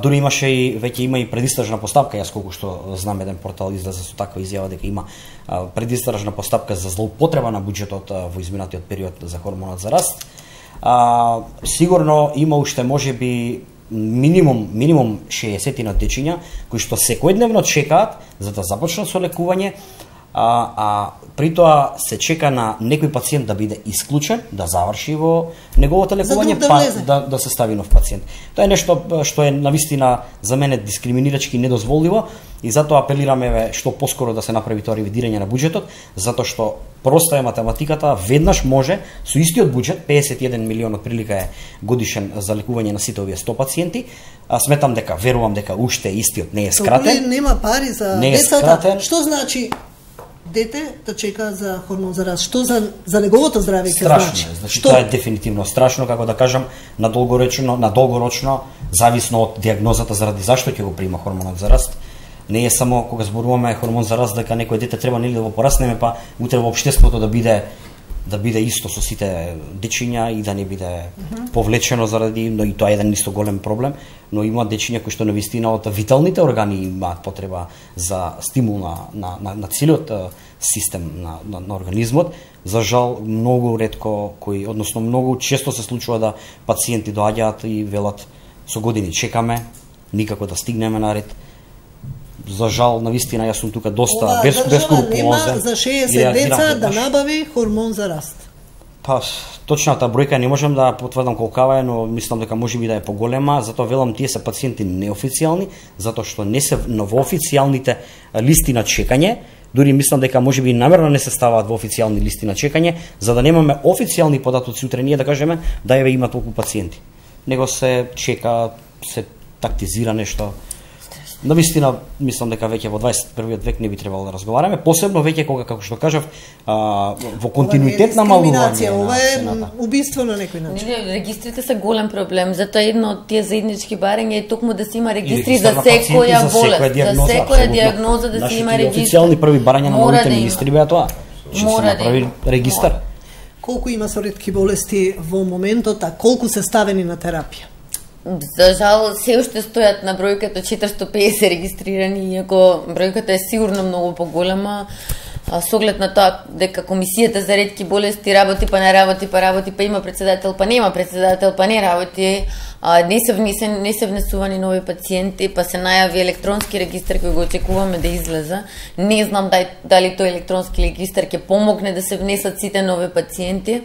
Дури имаше и веќе има и предистражна постапка, јас колку што знам еден портал излезе со таква изјава дека има предистражна постапка за злоупотреба на буџетот во изминатиот период за хормонот за раст. Сигурно има уште можеби минимум 60 на дечиња кои што секојдневно чекаат за да започнат со лекување, при тоа се чека на некој пациент да биде исклучен, да заврши во неговото лекување, да се стави нов пациент. Тоа е нешто што е навистина за мене дискриминирачки и недозволиво и затоа апелираме што поскоро да се направи тоа ревидирање на буџетот, затоа што проста е математиката, веднаш може со истиот буџет, 51 милион од прилика е годишен за лекување на сите овие 100 пациенти, сметам дека, верувам дека уште истиот не е скратен. Нема пари за децата. Што значи дете да чека за хормон за раст? Што за неговото здравје ќе значи? Значи тоа е дефинитивно страшно, како да кажам, на долгорочно, зависно од диагнозата заради зашто ќе го прима хормонот за раст. Не е само кога зборуваме хормон за раст дека некој дете треба нели да го пораснеме, па утре во општеството да биде исто со сите дечиња и да не биде повлечено заради, но и тоа е еден исто голем проблем, но има дечиња кои што навистина од виталните органи имаат потреба за стимул на целиот систем на организмот. За жал многу ретко односно многу често се случува да пациенти доаѓаат и велат со години чекаме, никако да стигнеме на ред. За жал, навистина, јас сум тука доста бескрупулозен. Нема за 60 деца да набави хормон за раст. Па, точната бројка не можам да потврдам колкава е, но мислам дека можеби да е поголема, затоа велам тие се пациенти неофицијални, затоа што не се во официјалните листи на чекање, дури мислам дека можеби намерно не се ставаат во официјални листи на чекање, за да немаме официјални податоци утре ние да кажеме да еве има толку пациенти. Него се чека, се тактизира нешто. Навистина, мислам дека веќе во 21 век не би требало да разговараме, посебно веќе кога, како што кажав, во континуитет на малување. Ова е убиство на некој начин. Регистрите се голем проблем, затоа едно од тие заеднички барања е токму да се има регистри за секоја болест, за секоја диагноза да се има регистри. Официјални први барања на новите министри беа тоа. Што се направи регистар. Колку има со ретки болести во моментот, а колку се ставени на терапија? За жал, се уште стојат на бројката 450 регистрирани, иако бројката е сигурно многу поголема, со оглед на тоа дека Комисијата за ретки болести работи, па не работи, па има председател, па нема председател, па не работи, не се внесувани нови пациенти, па се најави електронски регистар кој го очекуваме да излезе. Не знам дали тој електронски регистар ќе помогне да се внесат сите нови пациенти.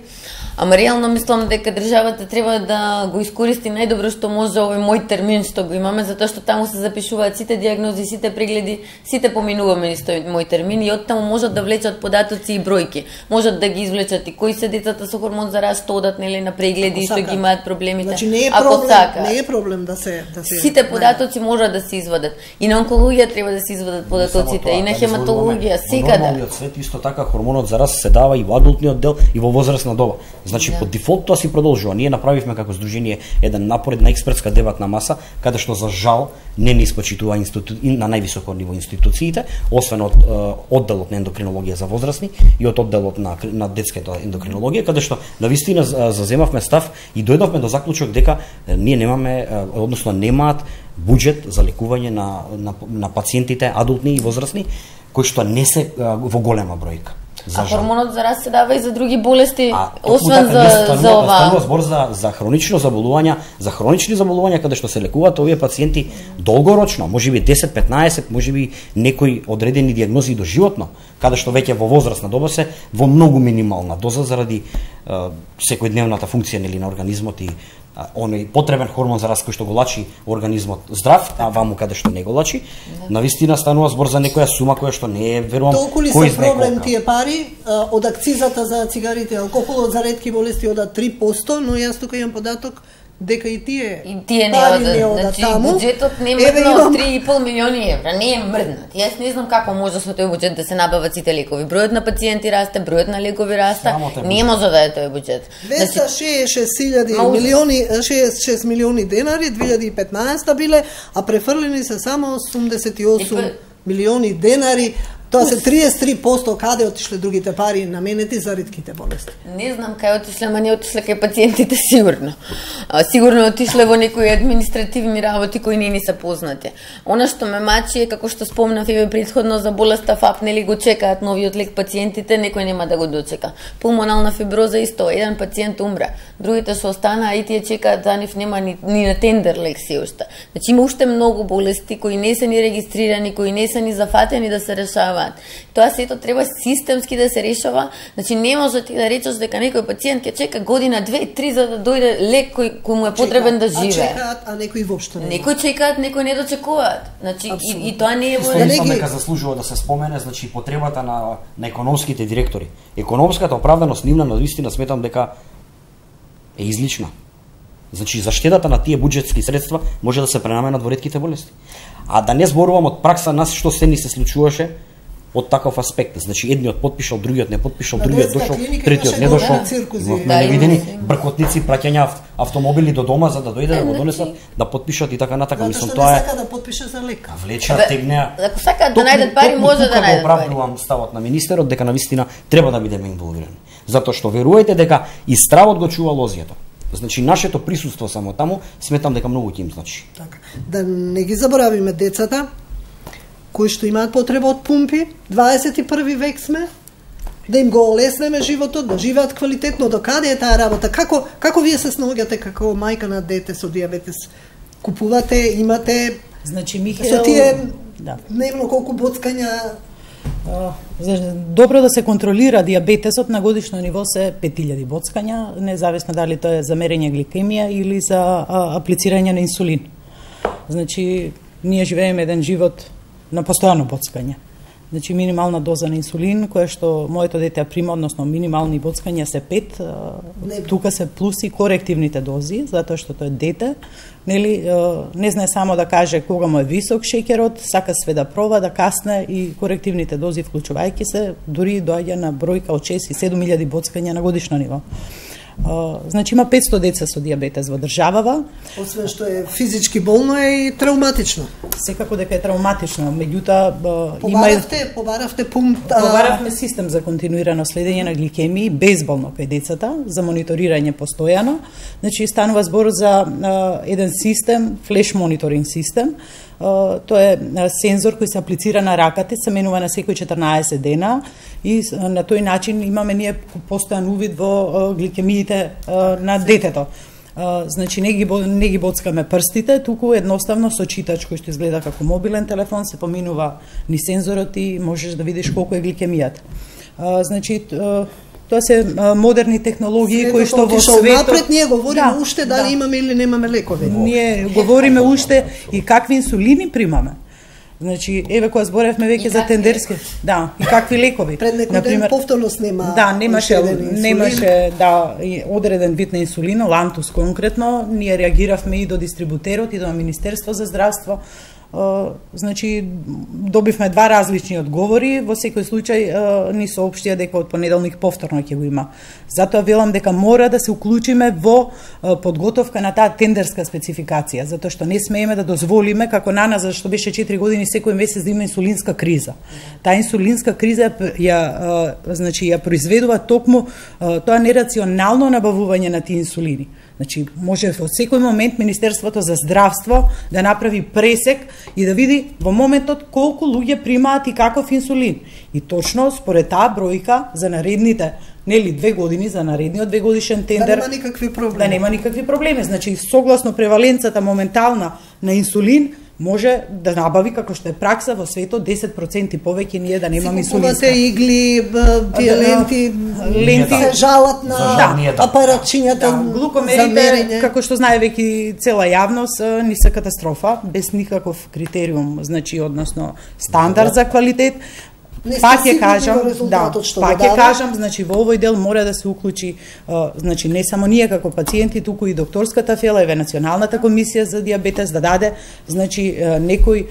Ама реално мислам дека државата треба да го искористи најдобро што може овој мој термин што го имаме, затоа што таму се запишуваат сите диагнози, сите прегледи, сите поминуваме низ тој мој термин и оттаму можат да влечат податоци и бројки. Можат да ги извлечат и кои се децата со хормон за раст, што одат нели на прегледи и што ги имаат проблемите. Значи не е Ако проблем, сака, не е проблем да се сите податоци можат да се извадат. И на онкологија треба да се извадат податоците, и на хематологија, секаде. Во нормалниот свет исто така хормонот за раст се дава и во адултниот дел и во возрастна доба. Значи по дефолт тоа си продолжува. Ние направивме како здружение еден напор, една експертска дебатна маса, каде што за жал не ни испочитува на највисоко ниво институциите, освен од одделот на ендокринологија за возрастни и од одделот на детската ендокринологија, каде што навистина заземавме став и дојдовме до заклучок дека ние немаме, односно немаат буџет за лекување на пациентите адултни и возрастни кои што не се во голема бројка. Хормонот за раст се дава и за други болести, освен за ова. Станува збор за хронично заболувања, за хронични заболувања каде што се лекуваат овие пациенти долгорочно, можеби 10-15, можеби некои одредени дијагнози доживотно, каде што веќе во возрастна доба се во многу минимална доза заради секојдневната функција нели на организмот и оној потребен хормон за раст кој што го лачи организмот здрав, а ваму каде што не го лачи. Навистина станува збор за некоја сума која што не е, верувам, толку ли се проблем тие пари од акцизата за цигарите и алкохолот за ретки болести одат 3%, но јас тука имам податок дека и тие не одат, значи таму. Буџетот не мрдна од 3,5 милиони евра, не е мрднат. Јас не знам како може со тој буџет да се набават сите лекови. Бројот на пациенти расте, бројот на лекови расте, не може да е тој буџет. 266 милиони денари 2015 биле, а префрлени се само 88 милиони денари. Тоа се 33% каде отишле другите пари наменети за ретките болести. Не знам кај отишле, ама не отишле кај пациентите сигурно. Сигурно отишле во некои административни работи кои не ни се познати. Она што ме мачи е, како што спомнав и претходно за болеста ФАП, нели го чекаат новиот лек пациентите, некој нема да го дочека. Пулмонална фиброза исто, еден пациент умре, другите што останаа и тие чекаат, за нив нема ни на тендер лек се уште. Значи има уште многу болести кои не се ни регистрирани, кои не се ни зафатени да се решаваат. Тоа сето треба системски да се решава. Значи не може ти да речеш дека некој пациент ќе чека година, 2-3 за да дојде лек кој му е потребен да живее. А чекаат, а некои воопшто не. Некои чекаат, некои не дочекуваат. Значи и тоа не е во ред. Мислам дека заслужува да се спомене, значи потребата на економските директори. Економската оправданост нивна навистина сметам дека е излична. Значи заштедата на тие буџетски средства може да се пренаменат во ретките болести. А да не зборувам од пракса нас што се ни се случуваше од таков аспект. Значи едниот потпишал, другиот не потпишал, другиот дошол, третиот не дошол. Имавме невидени бркотници, праќања автомобили до дома за да дојде да го донесат, да потпишат и така натака. Мислам тоа е. Сака да потпише за лек. Влеча, тегнеа. Ако сакаат да најдат пари, може да најдат пари. Оправдувам ставот на министерот дека навистина треба да бидеме инволвирани. Затоа што верувајте дека и стравот го чува лозијата. Значи нашето присуство само таму сметам дека многу ќе им значи. Така. Да не ги заборавиме децата кои што имаат потреба од пумпи, 21 век сме, да им го олеснеме животот, да живеат квалитетно. До каде е таа работа? Како вие се снаоѓате како мајка на дете со дијабетес? Купувате, имате, значи Михаел, со тие дневно колку боцкања? Добро да се контролира дијабетесот на годишно ниво се 5000 боцкања, независно дали тоа е за мерење гликемија или за аплицирање на инсулин. Значи ние живееме еден живот на постојано боцкање. Значи минимална доза на инсулин, која што моето дете прима, односно минимални боцкања се 5, тука се плюс и корективните дози, затоа што тоа е дете, нели, не знае само да каже кога му е висок шеќерот, сака све да проба, да касне и корективните дози вклучувајќи се, дури доаѓа на бројка од 6 и 7000 боцкања на годишно ниво. Значи има 500 деца со дијабетес во државава. Освен што е физички болно е и травматично. Секако дека е травматично, меѓутоа побаравме систем за континуирано следење на гликемии безболно кај децата, за мониторирање постојано. Значи станува збор за еден систем, флеш мониторинг систем. Тоа е сензор кој се аплицира на раката, се менува на секој 14 дена и на тој начин имаме ние постојан увид во гликемиите на детето. Значи не ги боцкаме прстите, туку едноставно со читач кој што изгледа како мобилен телефон се поминува ни сензорот и можеш да видиш колку е гликемијата. Значи тоа се модерни технологии кои што во светот напред ние говориме уште дали имаме или немаме лекови. Ние говориме уште и какви инсулини примаме. Значи, еве кога зборевме веќе за тендерски, да, и какви лекови. Пред некој ден повторно снема. Да, немаше и одреден вид на инсулин, Лантус конкретно, ние реагиравме и до дистрибутерот и до Министерство за здравство. Значи, добивме два различни одговори, во секој случај ни соопштија дека од понеделник повторно ќе го има. Затоа велам дека мора да се уклучиме во подготовка на таа тендерска спецификација, затоа што не смееме да дозволиме, како на нас, зашто беше 4 години секој месец да има инсулинска криза. Таа инсулинска криза ја произведува токму тоа нерационално набавување на тие инсулини. Значи, може во секој момент Министерството за здравство да направи пресек и да види во моментот колку луѓе примаат и каков инсулин. И точно според таа бројка за наредните 2 години, за наредниот 2 годишен тендер, да нема никакви проблеми. Да нема никакви проблеми. Значи, согласно преваленцата моментална на инсулин, може да набави, како што е пракса во светот, 10% повеќе ние да немаме инсулинска. Си купувате игли, тие ленти се жалат на апаратчињата, глукомерите, како што знае веќе цела јавност, не се катастрофа, без никаков критериум, значи, односно, стандард за квалитет. Пак ќе кажам, значи во овој дел мора да се уклучи, значи не само ние како пациенти, туку и докторската фела, еве Националната комисија за дијабетес да даде, значи некои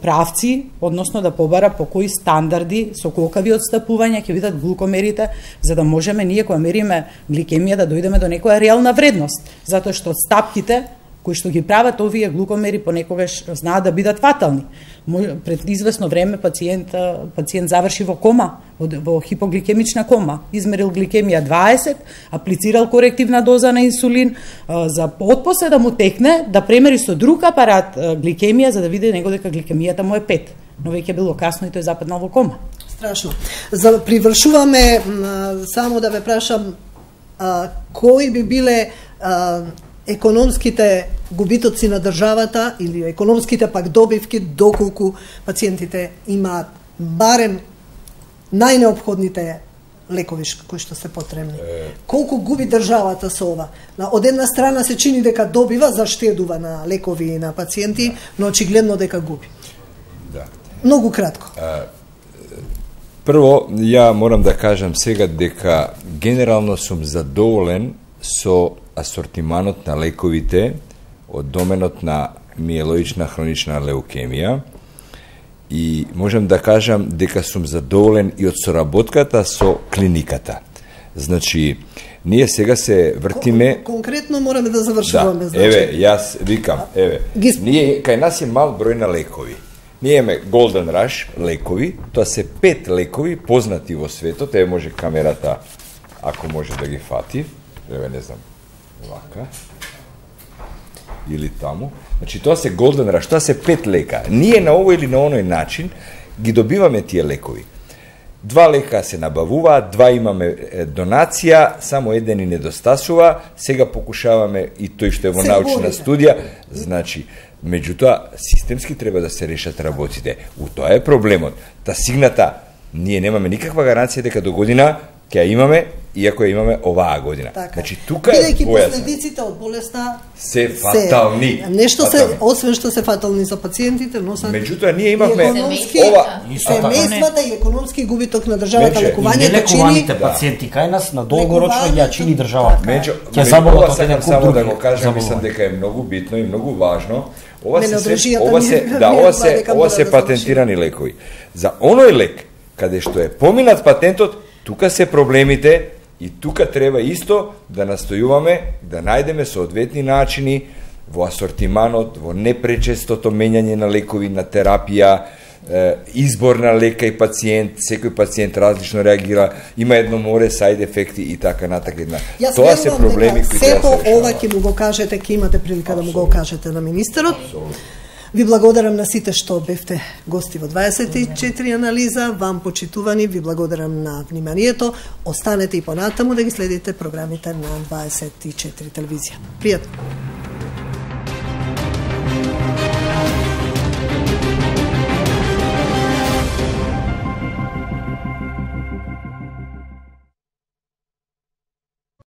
правци, односно да побара по кои стандарди со колкави отстапувања ќе бидат глукомерите, за да можеме ние кога мериме гликемија да дојдеме до некоја реална вредност, затоа што стапките кои што ги прават овие глукомери понекогаш знаат да бидат фатални. Пред известно време пациент заврши во кома, во хипогликемична кома, измерил гликемија 20, аплицирал корективна доза на инсулин, за отпосле да му текне да премери со друг апарат гликемија за да види него дека гликемијата му е 5, но веќе било касно и тој западнал во кома. Страшно. За привршуваме, само да ве прашам, кои би биле економските губитоци на државата или економските пак добивки доколку пациентите имаат барем најнеопходните лекови кои што се потребни. Колку губи државата со ова? Од една страна се чини дека добива, заштедува на лекови и на пациенти, но очигледно дека губи. Да. Многу кратко. Прво, ја морам да кажам сега дека генерално сум задоволен со асортиманот на лековите од доменот на миелоична хронична леукемија и можам да кажам дека сум задоволен и од соработката со клиниката. Значи, ние сега се вртиме... Конкретно мораме да завршуваме. Да, еве, јас викам, ние, кај нас е мал број на лекови. Ние имаме Golden Rush лекови, тоа се 5 лекови познати во светот, еве може камерата, ако може да ги фати, еве не знам, вака, или таму. Значи, тоа се Golden Rush, тоа се 5 лека. Ние на овој или на оној начин ги добиваме тие лекови. 2 лека се набавуваат, 2 имаме донација, само еден и недостасува, сега покушаваме и тој што е во научна студија, значи, меѓутоа, системски треба да се решат работите. У тоа е проблемот. Та сигната, ние немаме никаква гаранција дека до година ќе ја имаме, иако ја имаме оваа година. Така. Значи, тука е бидејќи последиците од болеста се фатални. Нешто се, освен што се фатални за пациентите, но се меѓутоа ние имавме семејствата и економски губиток на државата, лекувањето нелекуваните пациенти кај нас на долгорочно ја чини државата. Ќе заболат од еден куп други. Да го кажам, мислам дека е многу битно и многу важно. Ова се патентирани лекови. За оној лек каде што е поминат патентот, тука се проблемите и тука треба исто да настојуваме да најдеме соодветни начини во асортиманот, во непречестото менјање на лекови, на терапија, избор на лека и пациент, секој пациент различно реагира, има едно море сајд ефекти и така натака. Тоа се проблеми кои треба да се решаваат. Сето ова ќе му го кажете, ќе имате прилика да му го кажете на министерот. Ви благодарам на сите што бевте гости во 24 анализа, вам почитувани, ви благодарам на вниманието. Останете и понатаму да ги следите програмите на 24 телевизија. Пријатно!